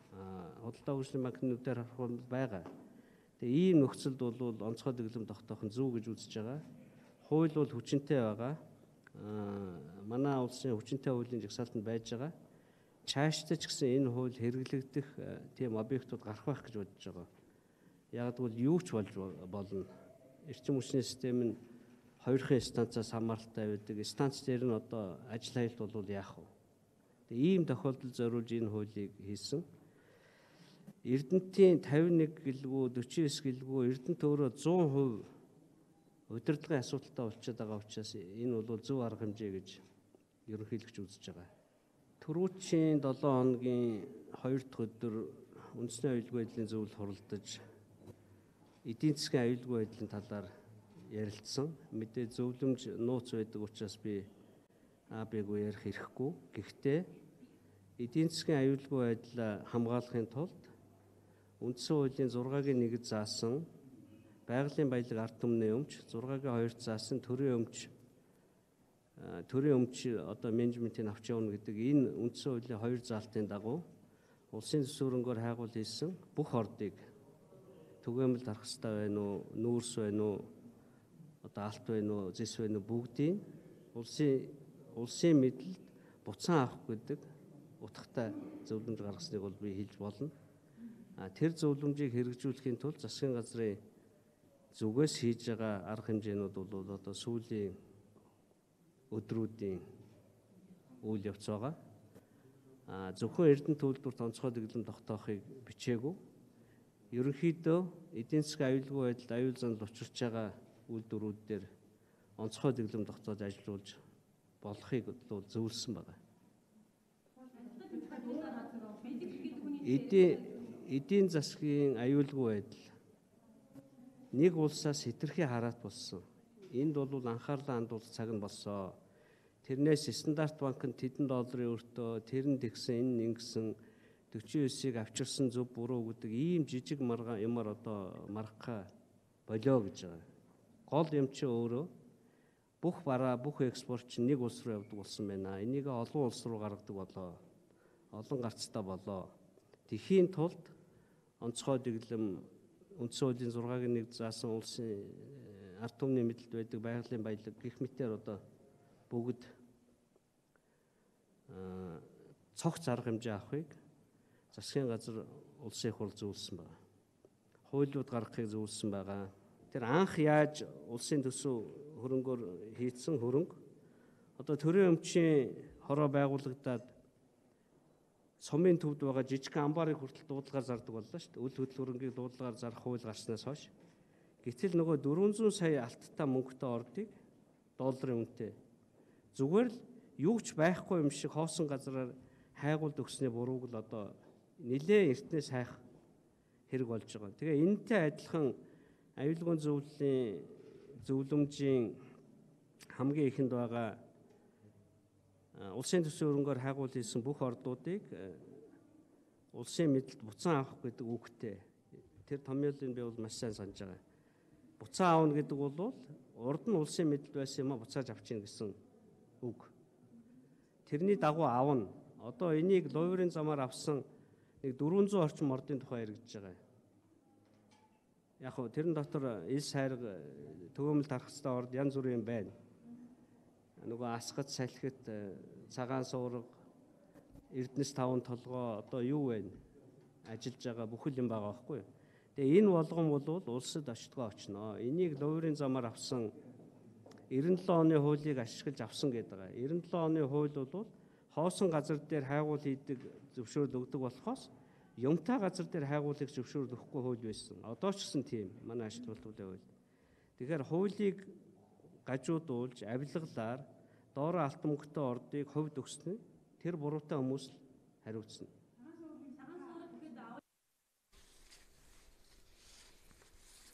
Худалдаа хөгжлийн банкны нүдээр харах бол байгаа. Тэгээ ийм нөхцөлд бол онцгой дэглэм тогтоох нь зөв гэж үзэж байгаа. Хууль бол хүчинтэй байгаа. Манай улсын хүчинтэй хуулийн жагсаалтанд байж байгаа. Цаашдаа ч гэсэн энэ хууль хэрэглэгдэх тийм объектууд гарах байх гэж бодож байгаа. Яг бол юу ч болж болно. Эрчим хүчний систем нь хоёрын станцаас хамааралтай байдаг. Станц дээр нь одоо ажил хаялт бол яах вэ? Тэгээ ийм тохиолдолд зориулж энэ хуулийг хийсэн. Эрдэнэтийн 51 гэлгүй 49 гэлгүй Эрдэнэт өөрөө 100% удирдлагын асуудалтай болчиход байгаа учраас энэ бол зөв арга хэмжээ гэж ерөнхийлөгч үзэж байгаа. Түрүүчийн 7 хоногийн 2 дахь өдөр үндэсний аюулгүй байдлын зөвлөл хуралдаж эдийн засгийн аюулгүй байдлын талаар ярилцсан. Мэдээ зөвлөмж нууц байдаг учраас би АБ-г ярих хэрэггүй. Гэхдээ эдийн засгийн аюулгүй байдлаа хамгаалахын тулд үндсэн хуулийн 6-гийн 1-д заасан байгалийн баялаг ард түмний өмч 6-гийн 2-т заасан төрийн өмч одоо менежментийг авч явна гэдэг энэ үндсэн хуулийн 2 заалтын дагуу улсын төсвөрөнгөөр хайгуул хийсэн бүх ордыг түгээмэл дарах хэрэгтэй байна уу, нүүрс байна уу, одоо алт байна уу, зэс байна уу бүгдийг улсын мэдэлд буцаан авах гэдэг утгатай зөвлөмж гаргасныг бол би хэлж болно. Тэр зөвлөмжийг хэрэгжүүлэхийн тулд засгийн газрын зүгээс хийж байгаа арга хэмжээнүүд бол одоо сүүлийн өдрүүдийн үйл явц байгаа. Зөвхөн Эрдэнэ төлөвлөлтөд онцгой дэглэм тогтоохыг бичээгүй. Ерөнхийдөө эдийн засгийн аюулгүй байдалд аюул занал учирч байгаа үйлдвэрүүд дээр онцгой дэглэм тогтоож ажиллуулж болохыг бол зөвлөсөн байна. Эдийн засгийн аюулгүй байдал нэг улсаас хэтэрхий хараат болсон. Энд бол анхаарлаа хандуулах цаг нь болсон. Тэрнээс Стандарт банкнд $1 өртөө тэр нь тэгсэн энэ ингэсэн 49-ийг авчирсан зөв буруу гэдэг ийм жижиг юмар одоо мархаа болоо гэж байгаа. Гол юм чи өөрөө бүх бараа бүх экспорт чинь нэг улс руу явдаг болсон байна. Энийг олон улс руу гаргадаг болоо. Олон гарцтай болоо. Тэхийн тулд онцгой дэглэм үндсэн хуулийн 6-гийн 1 заасан улсын ард түмний мэдэлд байдаг байгалийн баялаг гэх мэтээр одоо бүгд цогц арга хэмжээ авахыг засгийн газар улсын их хурл зөвлөсөн байна. Хуулиуд гаргахыг зөвлөсөн байгаа. Тэр анх яаж улсын төсөв хөрөнгөөр хийцэн хөрөнгө одоо төрийн өмчийн хороо байгуулагдаад сумын төвд байгаа жижиг амбарыг хүртэл дуудлагаар зардаг боллоо шүү дээ. Үл хөдлөл хөрөнгийг дуудлагаар зарах хууль гарснаас хойш. Гэтэл нөгөө 400 сая алттай мөнгөтэй ордыг долларын үнэтэй зүгээр л юу ч байхгүй юм шиг хоосон газараар хайгуулд өгсөний бурууг л одоо нэлээ эртнээс хайх хэрэг болж байгаа. Тэгээ энэтэй адилхан аюулгүй зөвлөмжийн хамгийн ихэнд байгаа улсын төсвийн хөрөнгөөр хайгуул хийсэн бүх ордуудыг улсын мэдэлд буцаан авах гэдэг үгтэй. Тэр томьёолыг би бол маш сайн санаж байгаа. буцаа аавна гэдэг бол урд нь улсын мэдэлд байсан юм а буцааж авчихна гэсэн үг. Тэрний дагуу аавна. Одоо энийг луврын замаар авсан нэг 400 орчим ордын тухай яригдж байгаа. Яг хөө тэрэн дотор ил сайрга төгөөмөл тархастай орд янз бүрийн байна. Нөгөө асгад салхит цагаан суурга Эрдэнэс 5 толгой одоо юу вэ? Ажиллаж байгаа бүхэл юм байгаа байхгүй юу? Тэгээ энэ болгон бол улсад очтгоо очно. Энийг луврын замаар авсан 97 оны хуулийг ашиглаж авсан гэдэг байгаа. 97 оны хууль бол хоосон газар дээр хайгуул хийдэг зөвшөөрөл өгдөг болохоос юмтай газар дээр хайгуулыг зөвшөөрөл өгөхгүй хууль байсан. Одоо ч гэсэн тийм манай ашиг тулгуурлын хууль. Тэгэхээр хуулийг гажуудуулж авилгалаар доороо алтан мөнгөтэй ордыг хувьд өгснө. Тэр буруутай хүмүүс хариуцна.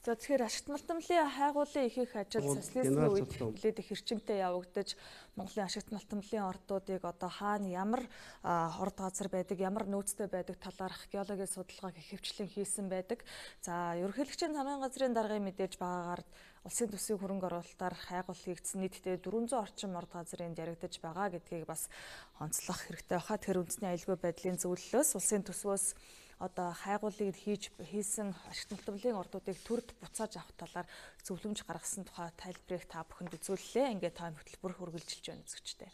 За тэгэхээр ашигт малтамлын хайгуулын ихэнх ажил социализмын үед нэлээд их хэрчимтэй явагдаж Монголын ашигт малтамлын ордуудыг одоо хаана ямар орд газар байдаг, ямар нөөцтэй байдаг талаар археологийн судалгааг их хвчлэн хийсэн байдаг. За ерөнхийлөгчийн замын газрын даргын мэдээж байгаагаар улсын төсвийн хөрөнгө оруулалтаар хайгуул хийгдсэн нийтдээ 400 орчим орд газрын яригдаж байгаа гэдгийг бас онцлох хэрэгтэй баха. Тэр үндэсний аюулгүй байдлын зөвлөлөөс улсын төсвөөс одоо хайгуулыг хийсэн ашигт малтамлын ордуудыг төрд буцааж авах талаар зөвлөмж гаргасан тухай тайлбарыг та бүхэнд үзүүллээ. Ингээд та хөтөлбөр үргэлжилж байна үзэгчтэй.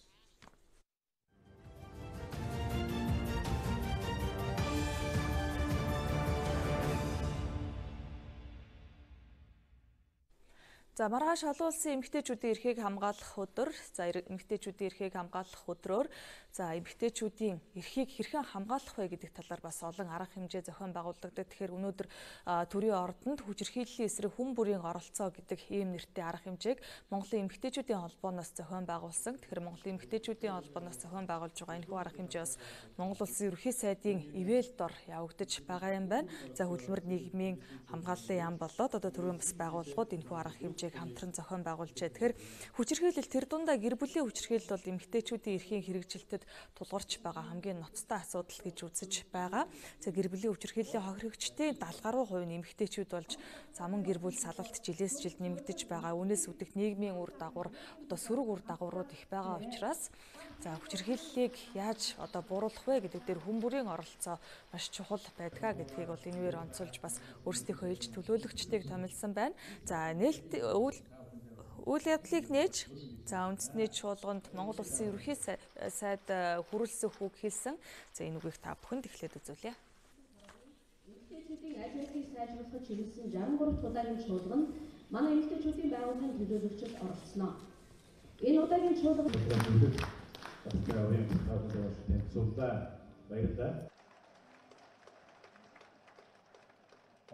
За маргааш олон улсын эмэгтэйчүүдийн эрхийг хамгаалах өдөр, за эмэгтэйчүүдийн эрхийг хамгаалах өдрөөр за эмэгтэйчүүдийн эрхийг хэрхэн хамгаалах вэ гэдэг талаар бас олон арга хэмжээ зохион байгуулагддаг. Тэгэхээр өнөөдөр төрийн ордонд хүчирхийллийн эсрэг хүн бүрийн оролцоо гэдэг ийм нэртэй арга хэмжээг Монголын эмэгтэйчүүдийн холбооноос зохион байгуулсан. Тэгэхээр Монголын эмэгтэйчүүдийн холбооноос зохион байгуулж байгаа энэхүү арга хэмжээ бас Монгол улсын ерөнхий сайдын ивэл дор явагдаж байгаа юм байна. За хөдөлмөр нийгмийн хамгааллын яам болоод одоо төрийн бас байгууллагууд энэхүү арга хэмжээг хамтран зохион байгуулжээ. Тэгэхээр хүчирхийлэл тэр дундаа гэр бүлийн хүчирхийлэл бол эмэгтэйчүүдийн эрхийн хэрэгжилтэд тулгарч байгаа хамгийн ноцтой асуудал гэж үзэж байгаа. За гэр бүлийн хүчирхийллийн хохирогчдын 70% нь эмэгтэйчүүд болж заман гэр бүл салалт жилээс жилд нэмэгдэж байгаа. Үүнээс үүдэх нийгмийн үр дагавар одоо сөрөг үр дагаврууд их байгаа учраас за хүчирхийллийг яаж одоо бууруулах вэ гэдэг дээр хүн бүрийн оролцоо маш чухал байдгаа гэдгийг бол энэгээр онцолж бас өөрсдийнхөө элж төлөөлөгчдийг томилсон байна. За нээлт үйл явдлыг нээж за үндэсний чуулганд Монгол улсын ерөнхий сайд хүрэлцэх үг хэлсэн. За энэ үгийг та бүхэнд эхлээд үзүүлье. Эмэгтэйчүүдийн аль хэдийг сайжруулахад чиглэсэн 63 удаагийн чуулганд манай эмэгтэйчүүдийн байгууллагын төлөөлөгчид оролцсноо. Энэ удаагийн чуулганд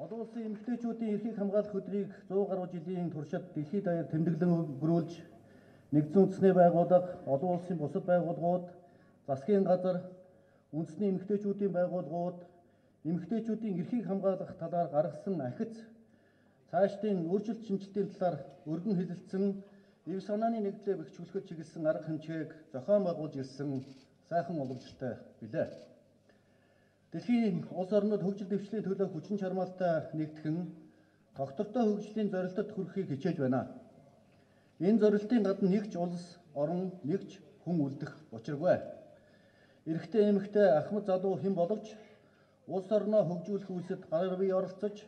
Олон улсын эмэгтэйчүүдийн эрхийг хамгаалах өдрийг 100 гаруй жилийн туршид дэлхийд даяар тэмдэглэн өнгөрүүлж нэгдсэн үндэсний байгууллага, олон улсын бусад байгууллагууд, засгийн газар, үндэсний эмэгтэйчүүдийн байгууллагууд эмэгтэйчүүдийн эрхийг хамгаалах талаар гаргасан ахиц цаашдын өөрчлөлт шинжилтийн талаар өргөн хэлэлцсэн эв санааны нэгдлээ бэхжүүлэхэд чиглэсэн арга хэмжээг зохион байгуулж ирсэн сайхан уламжлалтай билээ. Дэлхийн улс орнууд хөгжил дэвшлийн төлөө хүчин чармаалтай нэгтгэн тогтвортой хөгжлийн зорилтод хүрэхийг хичээж байна. Энэ зорилтын гадна нэг ч улс, орн, нэг ч хүн үлдэх учиргүй. Эрэгтэй эмэгтэй ахмад залуу хэн боловч улс орноо хөгжүүлэх үйлсэд гар бие оролцож,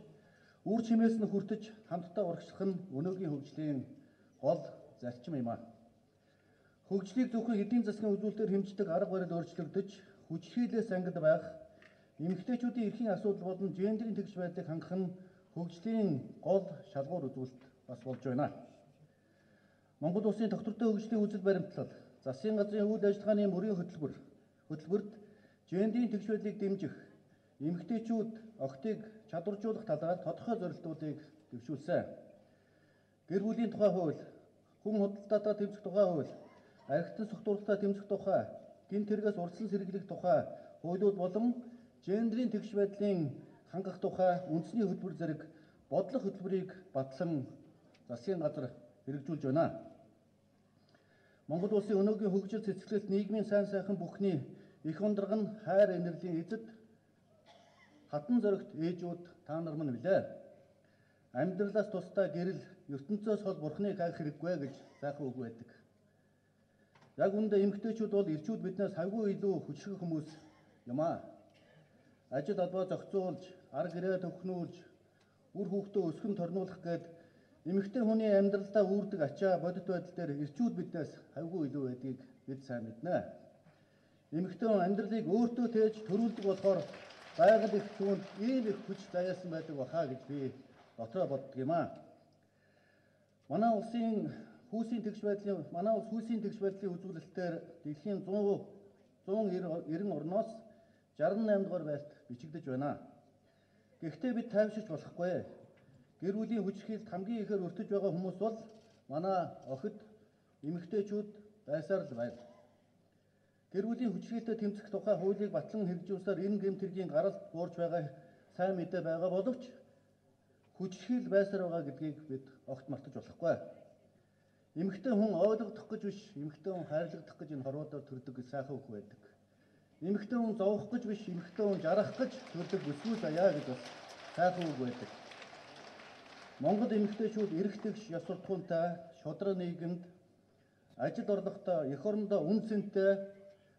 үр чимээс нь хүртэж хамтдаа урагшлах нь өнөөгийн хөгжлийн гол зарчим юм а. Хөгжлийг зөвхөн эдийн засгийн үзүүлэлтээр хэмждэг арга барил өөрчлөгдөж, хүчирхийллээс ангид байх эмэгтэйчүүдийн эрхийн асуудал болон гендерийн тэгш байдлыг хангах нь хөгжлийн гол шалгуур үзүүлэлт бас болж байна. Монгол улсын тогтвортой хөгжлийн үзэл баримтлал, засгийн газрын үйл ажиллагааны мөрийн хөтөлбөрт гендерийн тэгш байдлыг дэмжих, эмэгтэйчүүд охтыг чадваржуулах талаар тодорхой зорилтуудыг дэвшүүлсэн. Гэр бүлийн тухай хууль, хүн худалдаатаа тэмцэх тухай хууль, архитектурын согтууруулалтаа тэмцэх тухай, гин тэргээс урьдчилан сэргийлэх тухай хуулиуд болон гендерийн тэгш байдлын хангах тухай үндэсний хөтөлбөр зэрэг бодлого хөтөлбөрийг батлан засгийн газар хэрэгжүүлж байна. Монгол улсын өнөөгийн хөгжил цэцэглэлт нийгмийн сайн сайхан бүхний их ундраг нь хайр инэрлийн эзэд хатан зоригт ээжүүд та нар мань билээ. амьдралаас тусдаа гэрэл ертөнцөөс хол бурхныг хайх хэрэггүй гэж сайхан үг байдаг. Яг үүндээ эмэгтэйчүүд бол ирчүүд биднээс хавгүй илүү хүчрэх хүмүүс юм аа. Ажил албаа зохицуулж, ар гэрээ төвхнүүлж, үр хүүхдээ өсгөн торнуулах гээд эмэгтэй хүний амьдралдаа үүрдэг ачаа бодит байдал дээр ирчүүд биднээс хавгүй илүү байдгийг бид сайн мэднэ. Эмэгтэй хүн амьдралыг өөртөө тээж төрүүлдэг болохоор байгаль их түүнд ийм их хүч заяасан байдаг бахаа гэж би дотроо боддог юм аа. Манай улсын хүйсийн тэгш байдлын үзүүлэлтээр дэлхийн 190 орноос 68 дугаар байлт бичигдэж байна. Гэхдээ бид тайвширч болохгүй. Гэр бүлийн хүчирхийлэлд хамгийн ихээр өртөж байгаа хүмүүс бол манай охид эмэгтэйчүүд байсаар л байна. Гэр бүлийн хүчирхийлэлд тэмцэх тухай хуулийг батлан хэрэгжүүлсээр энэ гэмт хэргийн гаралт буурч байгаа сайн мэдээ байгаа боловч хүчирхийлэл байсаар байгаа гэдгийг бид огт мартаж болохгүй. Эмэгтэй хүн ойлгох гэж биш, эмэгтэй хүн хайрлагдах гэж энэ хорвоодоор төрдөг гэж сайхан үг байдаг. Эмэгтэй хүн зовох гэж биш, эмэгтэй хүн жарах гэж төрдөг бүсгүй заяа гэж бас сайхан үг байдаг. Монгол эмэгтэйчүүд эрэгтэгш, ёс суртахуунтай, шудраг нийгэмд ажил орлоготой, эх орондоо үн цэнтэй,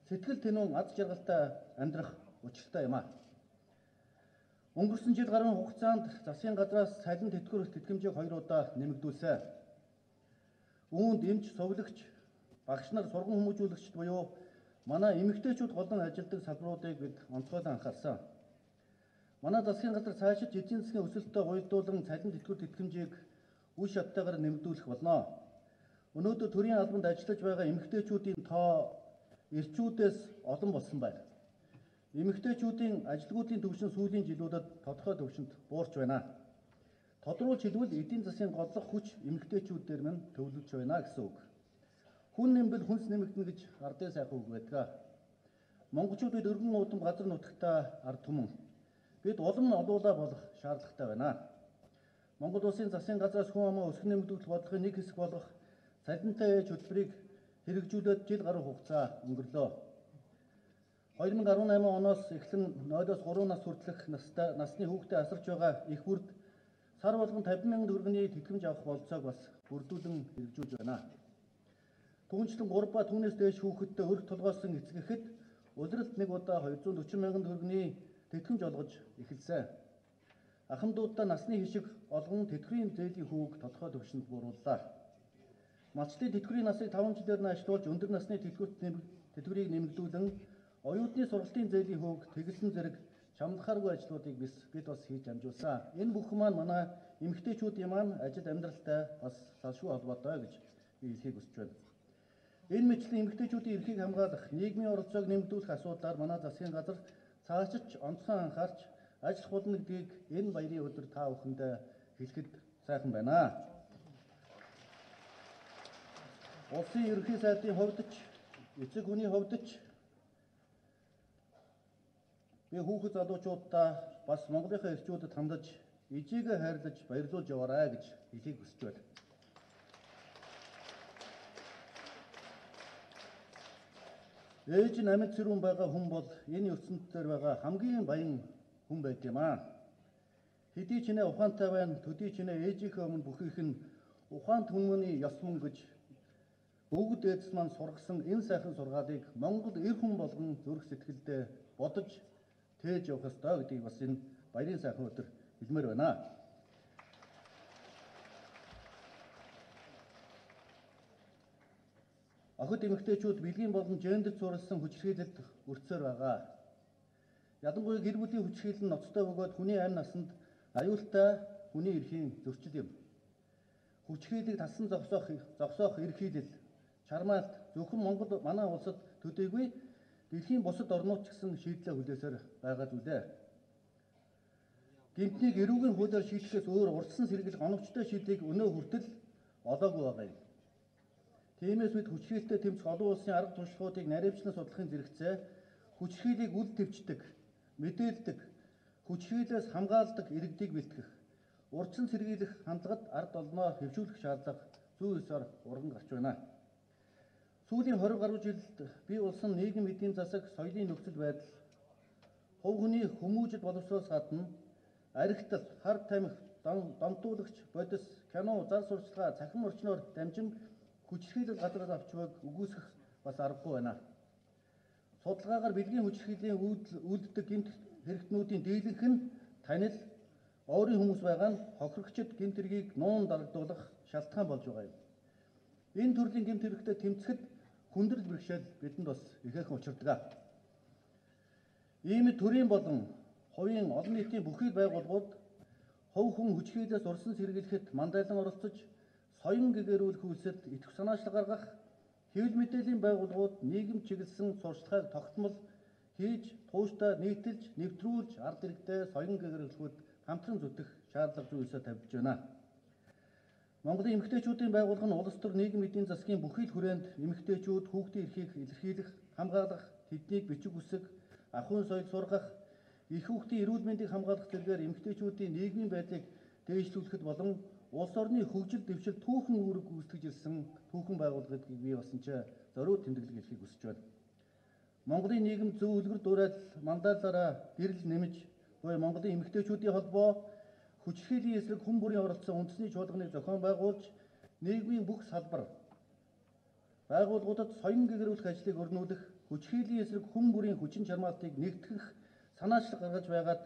сэтгэл тэнүүн аз жаргалтай амьдрах учиртай юм аа. Өнгөрсөн жил гаруй хугацаанд засгийн газраас цалин тэтгэврэх тэтгэмжийг 2 удаа нэмэгдүүлсэн. Үүнд эмч, совлогч, багш нар, сургууль хүмүүжүүлэгчд буюу манай эмэгтэйчүүд голон ажилдаг салбаруудыг бид онцгойлон анхаарсан. Манай засгийн газар цаашид эдийн засгийн өсөлтөд уялдуулан цалин тэтгэврэх тэтгэмжийг үе шаттайгаар нэмэгдүүлэх болно. Өнөөдөр төрийн албанд ажиллаж байгаа эмэгтэйчүүдийн тоо ирчүүдээс олон болсон байна. Эмэгтэйчүүдийн ажилгүйдлийн түвшин сүүлийн жилүүдэд тодорхой түвшинд буурч байна. Тодруулж хэлбэл эдийн засгийн голлох хүч эмэгтэйчүүдээр мань төвлөрч байна гэсэн үг. Хүн нэмбэл хүнс нэмэгдэнэ гэж ардын сайхан үг байдаг. Монголчууд бид өргөн уудам газар нутагтаа ард түмэн. Бид улам олуулаа болох шаардлагатай байна. Монгол улсын засгийн газраас хүн амын өсгөн нэмэгдүүлэх бодлогын нэг хэсэг болох цалинтай ээж хөтөлбөрийг хэрэгжүүлээд жил гаруй хугацаа өнгөрлөө. 2018 оноос эхлэн 0-3 нас хүртэлх насны хүүхдэд асарч байгаа их бүрд сар болгон 50,000 төгрөгийн тэтгэмж авах болцоог бас бүрдүүлэн хэрэгжүүлж байна. Түүнчлэн 3 ба түүнээс дээш хүүхэдтэй өрх толгойсон эцгэхэд улиралд нэг удаа 240,000 төгрөгийн тэтгэмж олгож эхэлсэн. Ахмадуудаа насны хишиг олгон тэтгэврийн зээлийн хүүг тодорхой түвшинд буурууллаа. Малчдын тэтгэврийн насыг 5 жилээр нь ажилуулж өндөр насны тэтгэврийг нэмэгдүүлэн оюутны сургалтын зээлийн хүүг тэглэн зэрэг чамлахааргүй ажлуудыг бид бас хийж амжуулсан. Энэ бүх маань манай эмэгтэйчүүдийн маань ажил амьдралтай бас салшгүй холбоотой гэж би хэлхийг хүсэж байна. Энэ мэтлэн эмэгтэйчүүдийн эрхийг хамгаалах, нийгмийн оролцоог нэмэгдүүлэх асуудлаар манай засгийн газар цаашид онцгой анхаарч ажиллах болно гэдгийг энэ баярын өдөр та бүхэндээ хэлэхэд сайхан байна. Улсын ерөнхий сайдын хувьд ч, эцэг хүний хувьд ч би хүүхэд залуучуудаа бас Монголынхаа эрчүүдэд хандаж ижигээ хайрлаж баярлуулж яваарай гэж хэлхийг хүсэж байна. Ээж нь амьд цэрүүн байгаа хүн бол энэ ертөнд дээр байгаа хамгийн баян хүн байд юм аа. Хэдий ч нэ ухаантай байна, төдий ч нэ ээжийнхээ өмнө бүхийх нь ухаант хүмүүний ёс мөн гэж бүгд эцэс маань сургасан энэ сайхан сургаалыг Монгол эр хүн болгон зүрх сэтгэлдээ бодож тээж явах ёстой гэдгийг бас энэ баярын сайхан өдөр хэлмээр байна. Охид эмэгтэйчүүд бэлгийн болон гендер зурсан хүчирхийлэлд өртсөөр байгаа. Ялангуяа гэр бүлийн хүчирхийлэл нь ноцтой бөгөөд хүний амь насанд аюултай хүний эрхийн зөрчил юм. Хүчирхийллийг талсан зогсоох эрхийлэл, чармаалт зөвхөн Монгол манай улсад төдийгүй дэлхийн бусад орнууд ч гэсэн шийдлээ хүлээсээр байгаа зүйлээ. Гэмтнийг эрүүгийн хуулиар шийдэхээс өөр урьдчилан сэргийлэх оновчтой шийдлийг өнөө хүртэл олоогүй байгаа юм. Тиймээс бид хүчирхийлэлтэй тэмцэх олон улсын арга туршлагуудыг наривчлан судлахын зэрэгцээ хүчирхийллийг үл твчдэг, мэдээлдэг, хүчирхийллээс хамгаалдаг иргэдийг бэлтгэх, урьдчилан сэргийлэх хандлагад ард олноо хэвшүүлэх шаардлага зүй ёсоор урган гарч байна. Сүүлийн 20 гаруй жилд бий болсон нийгэм эдийн засаг, соёлын нөхцөл байдал, хувь хүний хүмүүжил боловсроос гадна архитал, хар тамхи, донтуулагч, бодис, кино, зар сурталчилгаа, цахим орчноор дамжин хүчирхийлэл газраас авч байгааг үгүйсгэх бас аргагүй байна. Судалгаагаар бэлгийн хүчирхийллийн үйлддэг гэмт хэрэгтнүүдийн дийлэнх нь танил, ойрын хүмүүс байгаа нь хохирогчд гэмт хэргийг нуун дарагдуулах шалтгаан болж байгаа юм. Энэ төрлийн гэмт хэрэгтэд тэмцэхэд хүндрэл бэрхшээл бидэнд бас ихээхэн учирдаг. Ийм төрийн болон хувийн олон нийтийн бүхий байгууллагууд хувь хүн хүчирхийлэлээс урьдчилан сэргийлэхэд мандайлан оролцож, соён гэгэрүүлэх үйлсэд идэвх санаачлал гаргах, хэвлэл мэдээллийн байгууллагууд нийгэм чиглэсэн сурчлагыг тогтмол хийж, тууштай нийтэлж, нэвтрүүлж, ард иргэдэд соён гэгэрүүлэхүүд хамтран зүтгэх шаардлага зүйлсээ тавьж байна. Монголын эмэгтэйчүүдийн байгууллага нь улс төр нийгэм эдийн засгийн бүхий л хүрээнд эмэгтэйчүүд хүүхдийн эрхийг илэрхийлэх, хамгаалах, тэднийг бичиг үсэг, ахуйн соёл сургах, их хүүхдийн эрүүл мэндийг хамгаалах зэргээр эмэгтэйчүүдийн нийгмийн байдлыг дээшлүүлэхэд болон улс орны хөгжил дэвшил түүхэн үүрэг гүйцэтгэж ирсэн түүхэн байгууллагыг бий болсон ч зориуд тэмдэглэг хэлхийг хүсэж байна. Монголын нийгэм зөв үлгэр дуурайл мандаалаараа гэрэл нэмж буй Монголын эмэгтэйчүүдийн холбоо хүчирхийллийн эсрэг хүн бүрийн оролцсон үндэсний чуулганыг зохион байгуулж, нийгмийн бүх салбар байгууллагуудад соён гэгэрүүлэх ажлыг өрнүүлэх, хүчирхийллийн эсрэг хүн бүрийн хүчин чармаалтыг нэгтгэх санаачлал гаргаж байгаад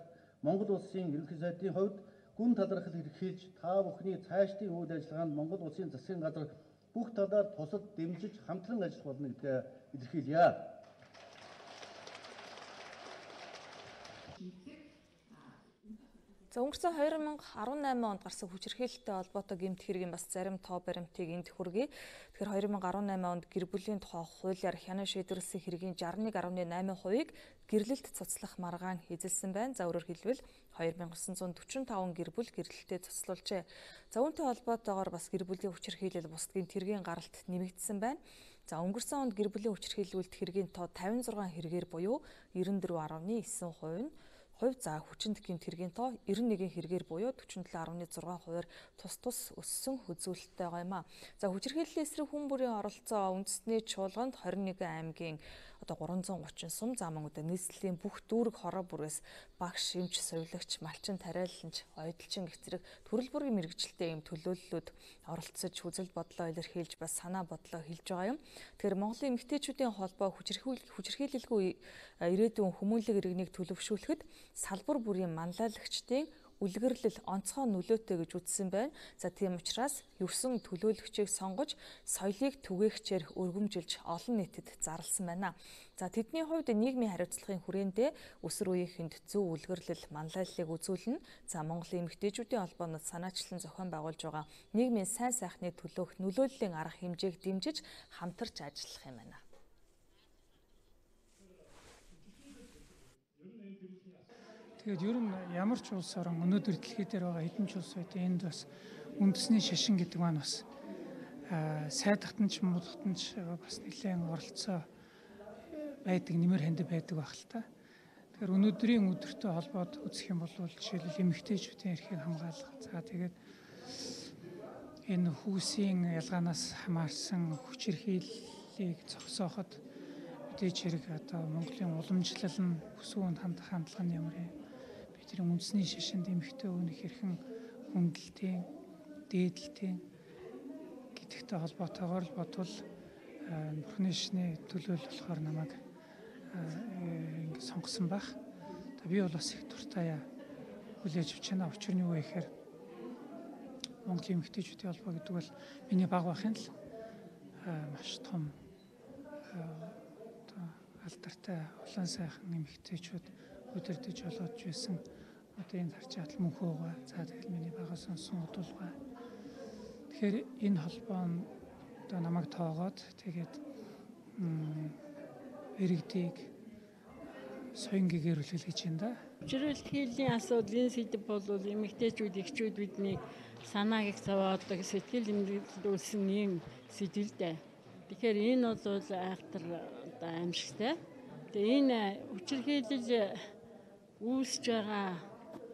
Монгол улсын ерөнхий сайдын хувьд гүн талархал илэрхийлж, та бүхний цаашдын үйл ажиллагаанд Монгол улсын засгийн газар бүх талаар тусад дэмжиж хамтран ажиллах болно гэдгээ илэрхийлье. За өнгөрсөн 2018 онд гарсан хүчирхийлэлтэй холбоотой гэмт хэргийн бас зарим тоо баримтыг энд хүргэе. Тэгэхээр 2018 онд гэр бүлийн тухай хуулиар хянан шийдвэрлэсэн хэргийн 61.8%-ийг гэрлэлт цуцлах маргаан эзэлсэн байна. За өөрөөр хэлбэл 2945 гэр бүл гэрлэлтэд цуцлуулжээ. За үүнтэй холбоотойгоор бас гэр бүлийн хүчирхийлэл бусдын тэргийн гаралт нэмэгдсэн байна. За өнгөрсөн онд гэр бүлийн хүчирхийлүүлэлт хэргийн тоо 56 хэрэгээр буюу 94.9% нь за хүчинд гэмт хэргийн тоо 91 хэрэгээр буюу 47.6%-аар тус өссөн үзүүлэлттэй байгаа юм а. За хүчирхийллийн эсрэг хүн бүрийн оролцоо үндэсний чуулганд 21 аймгийн 330 сум замангуудад нийслэлийн бүх дүүрэг хороо бүрээс багш, эмч, совилогч, малчин, тариаланч, ойдлчин гэх зэрэг төрөл бүрийн мэргэжилтэй юм төлөөллүүд оролцож үзэл бодлоо илэрхийлж бас санаа бодлоо хэлж байгаа юм. Тэгэхээр Монголын эмэгтэйчүүдийн холбоо хүчирхийлэлгүй ирээдүйн хүмүүнлэг иргэнийг төлөвшүүлэхэд салбар бүрийн манлайлагчдын үлгэрлэл онцгой нөлөөтэй гэж үзсэн байна. За тийм учраас 9 төлөөлөгчийг сонгож соёлыг түгээгчээр өргөмжилж олон нийтэд зарласан байна. За тэдний хувьд нийгмийн хариуцлагын хүрээндээ өсвөр үеийнхэнд зөв үлгэрлэл манлайллыг үзүүлнэ. За Монголын эмэгтэйчүүдийн холбоонод санаачлан зохион байгуулж байгаа нийгмийн сайн сайхны төлөөх нөлөөллийн арга хэмжээг дэмжиж хамтарч ажиллах юм байна. Тэгээд ер нь ямар ч улс орон өнөөдөр дэлхий дээр байгаа хэдэн ч улс үед энд бас үндэсний шашин гэдэг маань бас сайдахтан ч муудахтан ч бас нэлээд оролцоо байдаг, нэмэр ханд байдаг байх л та. Тэгэхээр өнөөдрийн өдөртөө холбоод үзэх юм бол жишээлбэл эмэгтэйчүүдийн эрхийг хамгаалах. За тэгээд энэ хүүсийн ялгаанаас хамаарсан хүчирхийллийг зогсооход мэдээж хэрэг одоо Монголын уламжлал нь өсвөн хандах хандлага нь ямар юм. Тэр үндэсний шашинд эмэгтэй өвнөх хэрхэн хүндэлтийн, дээдлтийн гэдэгтэй холбоотойгоор л бодвол Бурхны шний төлөөлөл болохоор намайг ингэ сонгосон байх. Би бол бас их дуртай хүлээж авч байна. Учир нь юу вэ гэхээр Монголын эмэгтэйчүүдийн холбоо гэдэг бол миний баг байхын л маш том алдартай улаан сайхан эмэгтэйчүүд өдөрдөж болоод байсан. Одоо энэ харж хат мөнхөө байгаа. За тэгэл миний бага сонсон удуулгаа. Тэгэхээр энэ холбоо нь одоо намайг тоогоод тэгээд иргэдийг соён гэгэрүүлэх гэж байна да. Хүчирхийллийн асуудлын сэдэв бол эмэгтэйчүүд, эхчүүд бидний санааг их зовоодог, сэтгэл эмгэлүүлсэн ийм сэдвэлтэй. Тэгэхээр энэ бол айхтар одоо аимшигтай. Тэгээ энэ хүчирхийлэл үүсэж байгаа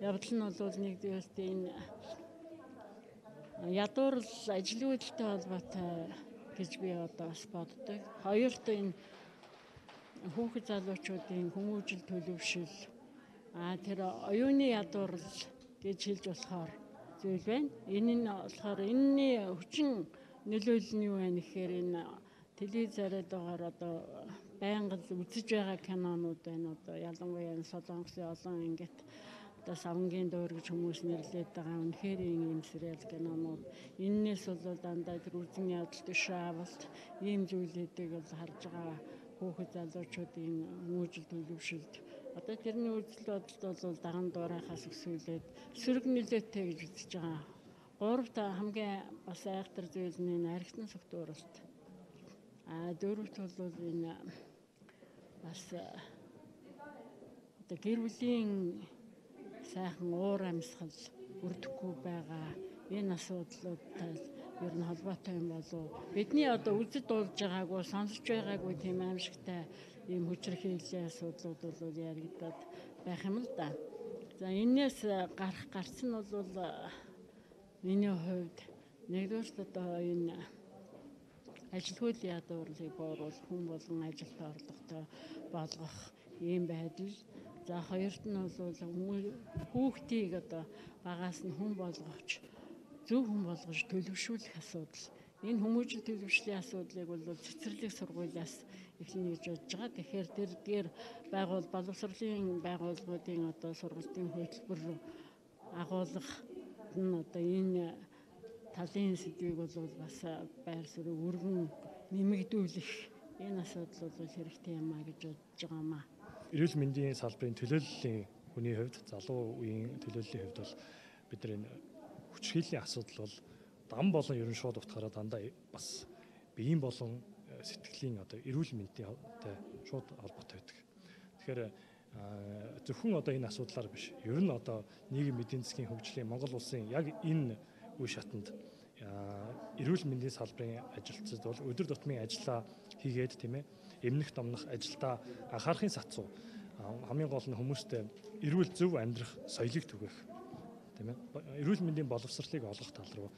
явдал нь бол нэгдүгээрт энэ ядуурл ажлын үйлдэлтэй холбоотой гэж би одоо бас боддог. Хоёрт энэ хүүхэд залуучуудын хүмүүжил төлөвшил тэр оюуны ядуурл гэж хэлж болохоор зүйл байна. Энэ нь болохоор энэний хүчин нөлөөлөл нь юу вэ гэхээр энэ телевизээр дагаар одоо байнга үзэж байгаа кинонууд байна. Одоо ялангуяа Солонгосын олон ингээд одоо савнгийн дуур гэж хүмүүс нэрлэдэг байгаа. Үнэхээр ийм сериал кинонууд энээс бол дандаа тэр үзэн ядалт шаавалт ийм зүйлүүдийг бол харж байгаа хүүхэд залуучуудын хүмүүжил төлөвшөлт одоо тэрний үзэл бодолд бол даган дуурайхаас өсвөлээд сөрөг нөлөөтэй гэж үзэж байгаа. Гуравт хамгийн бас айхтар зүйл нь архитектурын согтууралт. Дөрөвт бол энэ бас одоо гэр бүлийн сайхан уур амьсгал өрдөхгүй байгаа энэ асуудлуудтай ер нь холбоотой юм болов бидний одоо үзэж дуулж байгаагүй сонсож байгаагүй тийм аимшигтай ийм хүчирхийллийн асуудлууд бол яригдаад байх юм л да. За энээс гарсан нь бол миний хувьд нэгдүгээр одоо энэ ажилгүйдлийн ядуурлыг бууруулах хүн болгон ажилд орлоготой болгох ийм байдал. За хоёрт нь бол хүүхдийг одоо багаас нь хүн болгохч зөв хүн болгож төлөвшүүлэх асуудал. Энэ хүмүүжил төлөвшлийн асуудлыг бол цэцэрлэг сургуулиас эхлэнэ гэж бодож байгаа. Тэгэхээр тэр дээр боловсролын байгууллагуудын одоо сургалтын хөтөлбөр агуулгах нь одоо энэ талын сэдвийг бол бас байр суурийг өргөн нэмэгдүүлэх энэ асуудал бол хэрэгтэй юм а гэж бодож байгаа юм а. Эрүүл мэндийн салбарын төлөөллийн хүний хувьд залуу үеийн төлөөллийн хувьд бол бид нар энэ хүчирхийллийн асуудал бол дам болон ерөн шууд утгаараа дандаа бас биеийн болон сэтгэлийн одоо эрүүл мэндтэй шууд холбоотой байдаг. Тэгэхээр зөвхөн одоо энэ асуудлаар биш. Ер нь одоо нийгэм эдийн засгийн хөгжлийн Монгол улсын яг энэ үе шатанд эрүүл мэндийн салбарын ажилтнууд бол өдөр тутмын ажиллаа хийгээд тийм ээ эмнэх домнох ажилдаа анхаарахын сацуу хамгийн гол нь хүмүүстэй эрүүл зөв амьдрах соёлыг түгээх тийм ээ эрүүл мэндийн боловсролыг олгох тал руу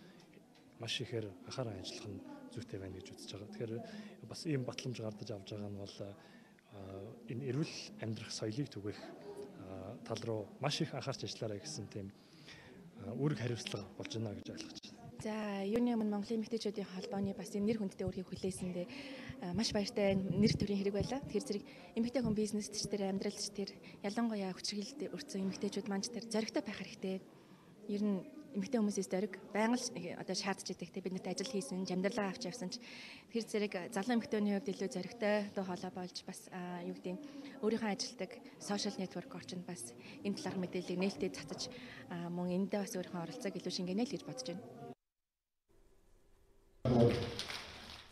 маш ихээр анхааран ажиллах нь зүйтэй байна гэж үзэж байгаа. Тэгэхээр бас ийм батламж гардаж авч байгаа нь бол энэ эрүүл амьдрах соёлыг түгээх тал руу маш их анхаарч ажиллаарай гэсэн тийм үүрэг хариуцлага болж байна гэж ойлгож байна. За, юуны өмнө Монголын эмэгтэйчүүдийн холбооны бас нэр хүндтэй үргийг хүлээсэндээ маш баяртай нэр төрийн хэрэг байлаа. Тэр зэрэг эмэгтэй хүн бизнесч тэр амьдралч тэр ялангуяа хүчирхийлэлд өртсөн эмэгтэйчүүд маань тэр зоригтой байх хэрэгтэй. Ер нь эмэгтэй хүмүүсээс зориг байнга л одоо шаардж идэг те бид нарт ажил хийсэн, амьдралаа авч явсан ч тэр зэрэг залуу эмэгтэйний хувьд илүү зоригтой доо хоолой болж бас юу гэдэг өөрийнхөө ажилдаг сошиал нэтворк орчинд бас энэ талаар мэдээллийг нээлттэй цацаж мөн эндээ бас өөрийнхөө оролцоог илүү шингэнэ л гэж бодож байна.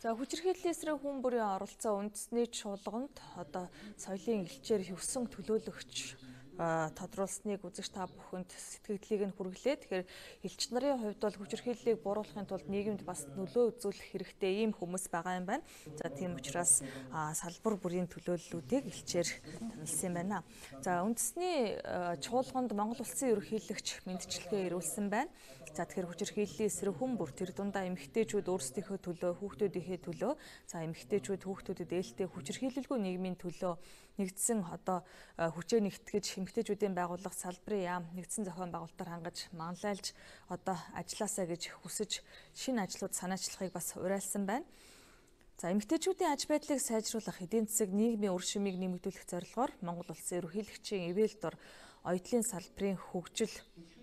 За хүчирхийллийн эсрэг хүн бүрийн оролцоо үндэсний чуулганд одоо соёлын элчээр хөвсөн төлөөлөгч тодруулсныг үзэж та бүхэнд сэтгэлдлийг нь хүргэлээ. Тэгэхээр элч нарын хувьд бол хүчирхийллийг бууруулахын тулд нийгэмд бас нөлөө үзүүлэх хэрэгтэй ийм хүмүүс байгаа юм байна. За тийм учраас салбар бүрийн төлөөллүүдийг элчээр танилцсан байна. За үндэсний чуулганд Монгол улсын ерөнхийлөгч мэндчилгээ ирүүлсэн байна. За тэгэхээр хүчирхийллийн эсрэг хүн бүр тэр дундаа эмэгтэйчүүд өөрсдийнхөө төлөө, хүүхдүүдийнхээ төлөө, за эмэгтэйчүүд хүүхдүүдэд ээлтэй хүчирхийлэлгүй нийгмийн төлөө нэгдсэн одоо хүчээ нэгтгэж эмэгтэйчүүдийн байгууллага салбарын яам нэгдсэн зохион байгуулалтаар хангаж манлайлж одоо ажилласаа гэж хүсэж шинэ ажлууд санаачлахыг бас уриалсан байна. За эмэгтэйчүүдийн аж байдлыг сайжруулах, эдийн засаг, нийгмийн үр шимийг нэмэгдүүлэх зорилгоор Монгол улсын ерөнхийлөгчийн ивэл дор оюутлын салбарын хөгжил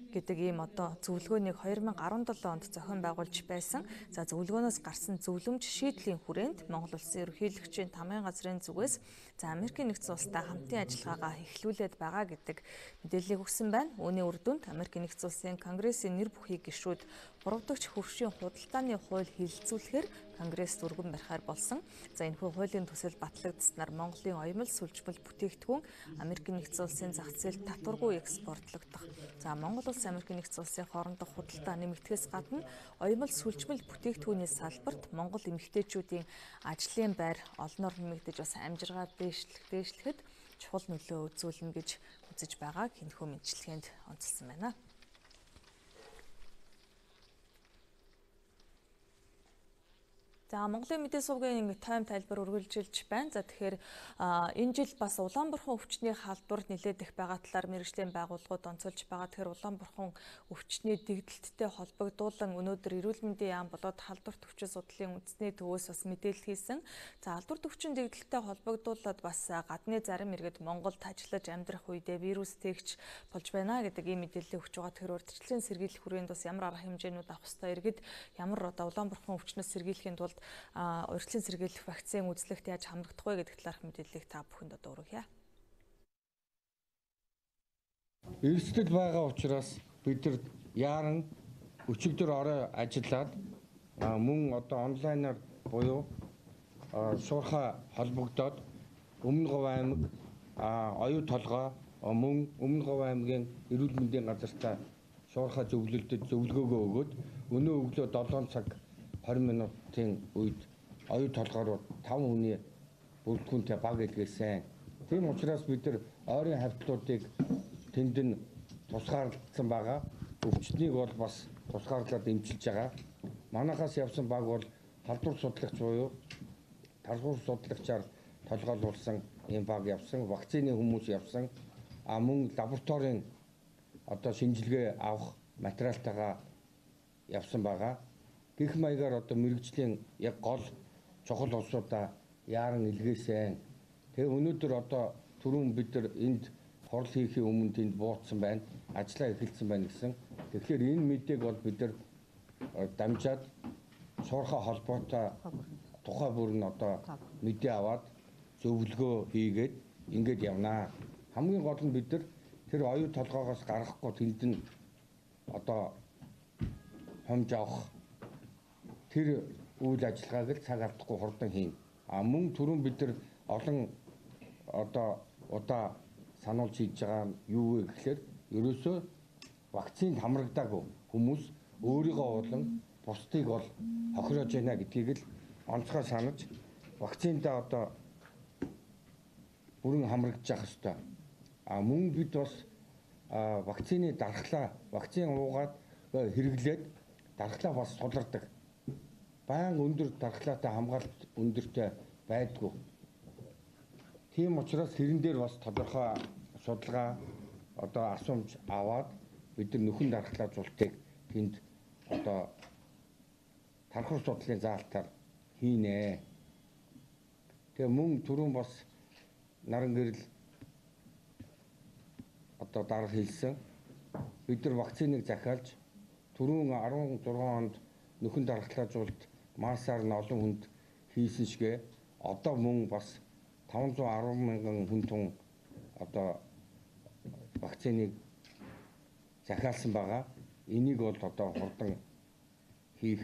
гэдэг ийм одоо зөвлөгөөнийг 2017 онд зохион байгуулж байсан. За зөвлөгөөнөөс гарсан зөвлөмж шийдлийн хүрээнд Монгол улсын ерөнхийлөгчийн тамгын газрын зүгээс за Америкийн нэгдсэн улстай хамтын ажиллагаагаа эхлүүлээд байгаа гэдэг мэдээллийг өгсөн байна. Үүний үр дүнд Америкийн нэгдсэн улсын Конгрессийн нэр бүхий гишүүд 3 дахь хөршийн худалдааны хууль хэлэлцүүлэхээр Конгресс өргөн барихаар болсон. За энэхүү хуулийн төсөл батлагдсанаар Монголын оёмл сүлжмэл бүтээгдэхүүн Америкийн нэгдсэн улсын зах зээлд татваргүй экспортлогдох. За Монгол улс Америкийн нэгдсэн улсын хоорондох худалдаа нэмэгдэхээс гадна оёмл сүлжмэл бүтээгдэхүүний салбарт Монгол эмэгтэйчүүдийн ажлын байр олноор нэмэгдэж бас амжиргаа дээшлэхэд чухал нөлөө үзүүлнэ гэж үзэж байгааг энэхүү мэндчилгээнд онцлсан байна. За Монголын мэдээ сувгийн тайм тайлбар үргэлжилж байна. За тэгэхээр энэ жил бас Улаанбурхан өвчтний халдвар нэлээд их байгаа талаар мэргэжлийн байгууллагууд онцолж байгаа. Тэгэхээр Улаанбурхан өвчтний дэгдэлттэй холбогдуулан өнөөдөр эрүүл мэндийн яам болоод халдварт өвчин судлалын үндэсний төвөөс бас мэдээлэл хийсэн. За халдварт өвчин дэгдэлттэй холбогдуулаад бас гадны зарим иргэд Монголд ажиллаж амьдрах үедээ вирус тэгж болж байна гэдэг ийм мэдээлэл өгч байгаа. Тэгэхээр урьдчилан сэргийлэх хүрээнд бас ямар арга хэмжээнүүд авах ёстой, иргэд ямар Улаанбурхан өвчнөөс сэргийлэхийн тулд урьдчилан сэргийлэх вакцины үзлэгт яаж хамрагдах вэ гэдэг талаарх мэдээллийг та бүхэнд одоо өргөе. Эрсдэл байгаа учраас бид нар яаран өчигдөр орой ажиллаад мөн одоо онлайнаар буюу шуурхай холбогдоод Өмнө Говь аймаг оюу толгой мөн Өмнө Говь аймгийн эрүүл мэндийн газартаа шуурхай зөвлөлдөд зөвлөгөөгөө өгөөд өнөө өглөө 7 цаг 20 минутын үед оюу толгойроо 5 хүний бүрэлдэхүүнтэй баг илгээсэн. Тийм учраас бид нар ойрын хавьтлуудыг тэнд нь тусгаарлагдсан байгаа. Өвчтнийг бол бас тусгаарлаад эмчилж байгаа. Манайхаас явсан баг бол халдвар судлагч буюу тархуур судлагчаар толгойлуулсан ийм баг явсан. Вакцины хүмүүс явсан. Мөн лабораторийн одоо шинжилгээ авах материалтайгаа явсан байгаа. Гэх маягаар одоо мэргэжлийн яг гол чухал улсуудаа яаран илгээсэн. Тэгээ өнөөдөр одоо түрүүн бид нар энд хурал хийхийн өмнө тэнд буутсан байна. Ажлаа эхэлсэн байна гэсэн. Тэгэхээр энэ мэдээг бол бид нар дамжаад шуурхай холбоотой тухай бүр нь одоо мэдээ аваад зөвлөгөө хийгээд ингэж явнаа. Хамгийн гол нь бид нар тэр оюу толгоогоос гарахгүй тэнд нь одоо хомж авах тэр үйл ажиллагааг л цаг алдахгүй хурдан хийн. Мөн түрүүн бид нар олон одоо удаа сануулж хийж байгаа нь юу вэ гэхээр ерөөсөө вакцинд хамрагдаагүй хүмүүс өөрийгөө болон бусдыг бол хохироож байна гэдгийг л онцгой санаж вакциндаа одоо бүрэн хамрагдаж явах ёстой. Мөн бид бас вакцины дархлаа, вакцин уугаад хэрэглээд дархлаа бас сулардаг. Баян өндөр дархлаатай хамгаалалт өндөртэй байдгүй. Тийм учраас хэрэн дээр бас тодорхой судалгаа одоо асуумж аваад бид нар нөхөн дархлаажуултыг тэнд одоо тархуур судлалын заалтаар хийнэ. Тэгээ мөн түрүүн бас наран гэрэл одоо дарга хэлсэн. Бид нар вакциныг захиалж түрүүн 16 онд нөхөн дархлаажуулалт маасаар нь олон хүнд хийсэн шигэ одоо мөн бас 510 мянган хүн тун одоо вакциныг захиалсан байгаа. Энийг бол одоо хурдан хийх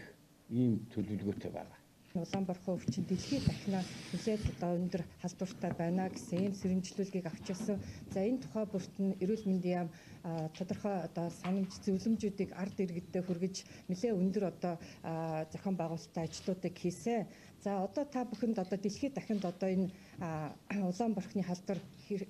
ийм төлөвлөгөөтэй байгаа. Улаанбархан өвчин дэлхийд дахинаа хүлээд одоо өндөр халдвартай байна гэсэн ийм сэрэмжлүүлгийг авчирсан. За энэ тухай бүрт нь эрүүл мэндийн яам тодорхой одоо санамж зөвлөмжүүдийг ард иргэдэд хүргэж нэлээд өндөр одоо зохион байгуулалттай ажлуудыг хийсэн. За одоо та бүхэнд одоо дэлхийд дахинд одоо энэ Улаанбарханы халдвар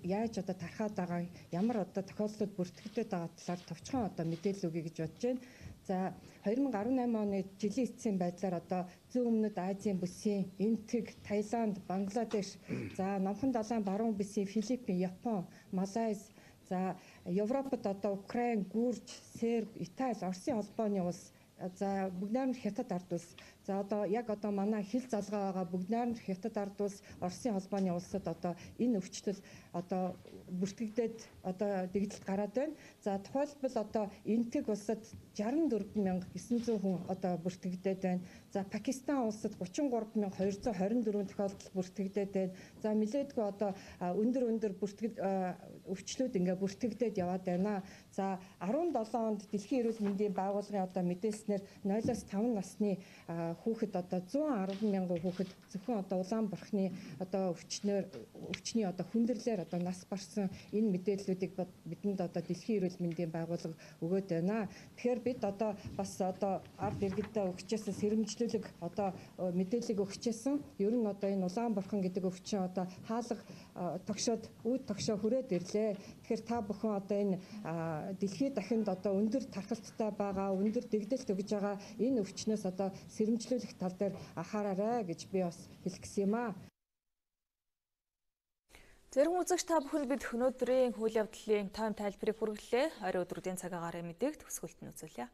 яаж одоо тархаад байгаа, ямар одоо тохиолдлууд бүртгэгдээд байгаа талаар товчхон одоо мэдээлэл өгье гэж бодож байна. За 2018 оны жилийн эцсийн байдлаар одоо зүүн өмнөд Азийн бүсийн Энтэг, Таиланд, Бангладеш, за Номхон далайн баруун бүсийн Филиппин, Япон, Малайз, за Европод одоо Украин, Гүрж, Серб, Итали, Оросын холбооны улс, за бүгд найрамд Хятад ард улс, за одоо яг одоо манай хил залгаа байгаа бүгд найрамд Хятад ард улс, Оросын холбооны улсад одоо энэ өвчлөл одоо бүртгэгдээд одоо дэгдэлт гараад байна. За тухайлбал одоо Энтэг улсад 64900 хүн одоо бүртгэгдээд байна. За Пакистан улсад 33224 тохиолдол бүртгэгдээд байна. За нэлээдгүй одоо өндөр өвчлүүд ингээ бүртгэгдээд яваад байна. За 17 онд Дэлхийн эрүүл мэндийн байгууллагын одоо мэдээлснээр 0-5 насны хүүхэд одоо 110 мянган хүүхэд зөвхөн одоо Улаанбарханы одоо өвчний одоо хүндрэлээр одоо нас барсан энэ мэдээллүүдийг бидэнд одоо Дэлхийн эрүүл мэндийн байгууллага өгөөд байна. Тэгэхээр бид одоо бас одоо ард иргэдэд өгчээсэн сэрэмжлүүлэг одоо мэдээллийг өгчээсэн. Ер нь одоо энэ Улаанбархан гэдэг өвчин одоо хаалга тогшоод үүд тогшоо хүрээд ирлээ. хүрлээ. Тэгэхээр та бүхэн одоо энэ дэлхийд дахинд одоо өндөр тархалттай байгаа, өндөр дэгдэлт өгж байгаа энэ өвчнөөс одоо сэрэмжлүүлэх тал дээр анхаараарай гэж би бас хэлэх гэсэн юм аа. Зэрэг үзэгч та бүхэнд бид өнөөдрийн үйл явдлын тайм тайлбарыг хүргэлээ. Орой өдрүүдийн цаг агарын мэдээг төгсгөлт нь үзүүлье.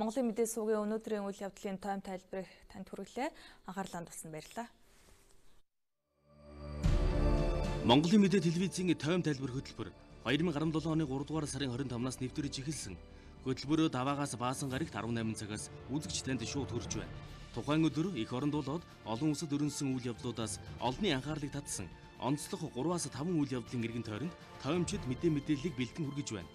Монголын мэдээ сувгийн өнөөдрийн үйл явдлын тайм тайлбарыг танд хүргэлээ. Анхаарлаа туссан баярлалаа. Монголын мэдээ телевизийн тайм тайлбар хөтөлбөр 2017 оны 3 дугаар сарын 25-наас нэвтрэж эхэлсэн. Хөтөлбөрөө даваагаас баасан гарагт 18 цагаас үзэгч танд шууд хүрч байна. Тухайн өдөр эх оронд болоод олон улсад өрнөсөн үйл явдлуудаас олонний анхаарлыг татсан онцлог 3-5 үйл явдлын эргэн тойронд таймчид мэдээллийг бэлтгэн хүргэж байна.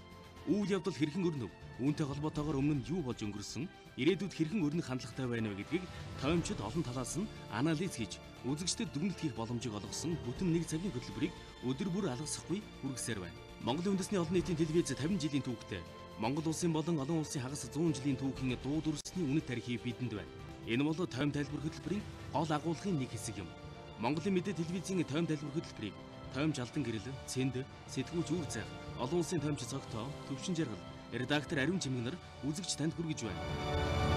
Үйл явдал хэрхэн өрнөв? Үүнтэй холбоотойгоор өмнө нь юу болж өнгөрсөн? Ирээдүйд хэрхэн өрнөх хандлагатай байна вэ гэдгийг таймчид олон талаас нь анализ хийж үзэгчдэд дүгнэлт хийх боломжийг олгосон бүтэн 1 цагийн хөтөлбөрийг өдөр бүр алгасахгүй хүргэсээр байна. Монголын үндэсний олон нийтийн телевиз 50 жилийн түүхтэй Монгол улсын болон олон улсын хагас 100 жилийн түүхийн дуу дүрсний үнэт тарихыг бидэнд байна. Энэ бол тайм тайлбар хөтөлбөрийн гол агуулгын нэг хэсэг юм. Монголын мэдээ телевизийн тайм тайлбар хөтөлбөрийг таймч алдан гэрэл, цэнд, сэтгүүлч үр зайх, олон улсын таймч цогтоо, төвшин жаргал, редактор Ариун Чимэгнэр үзэгч танд хүргэж байна.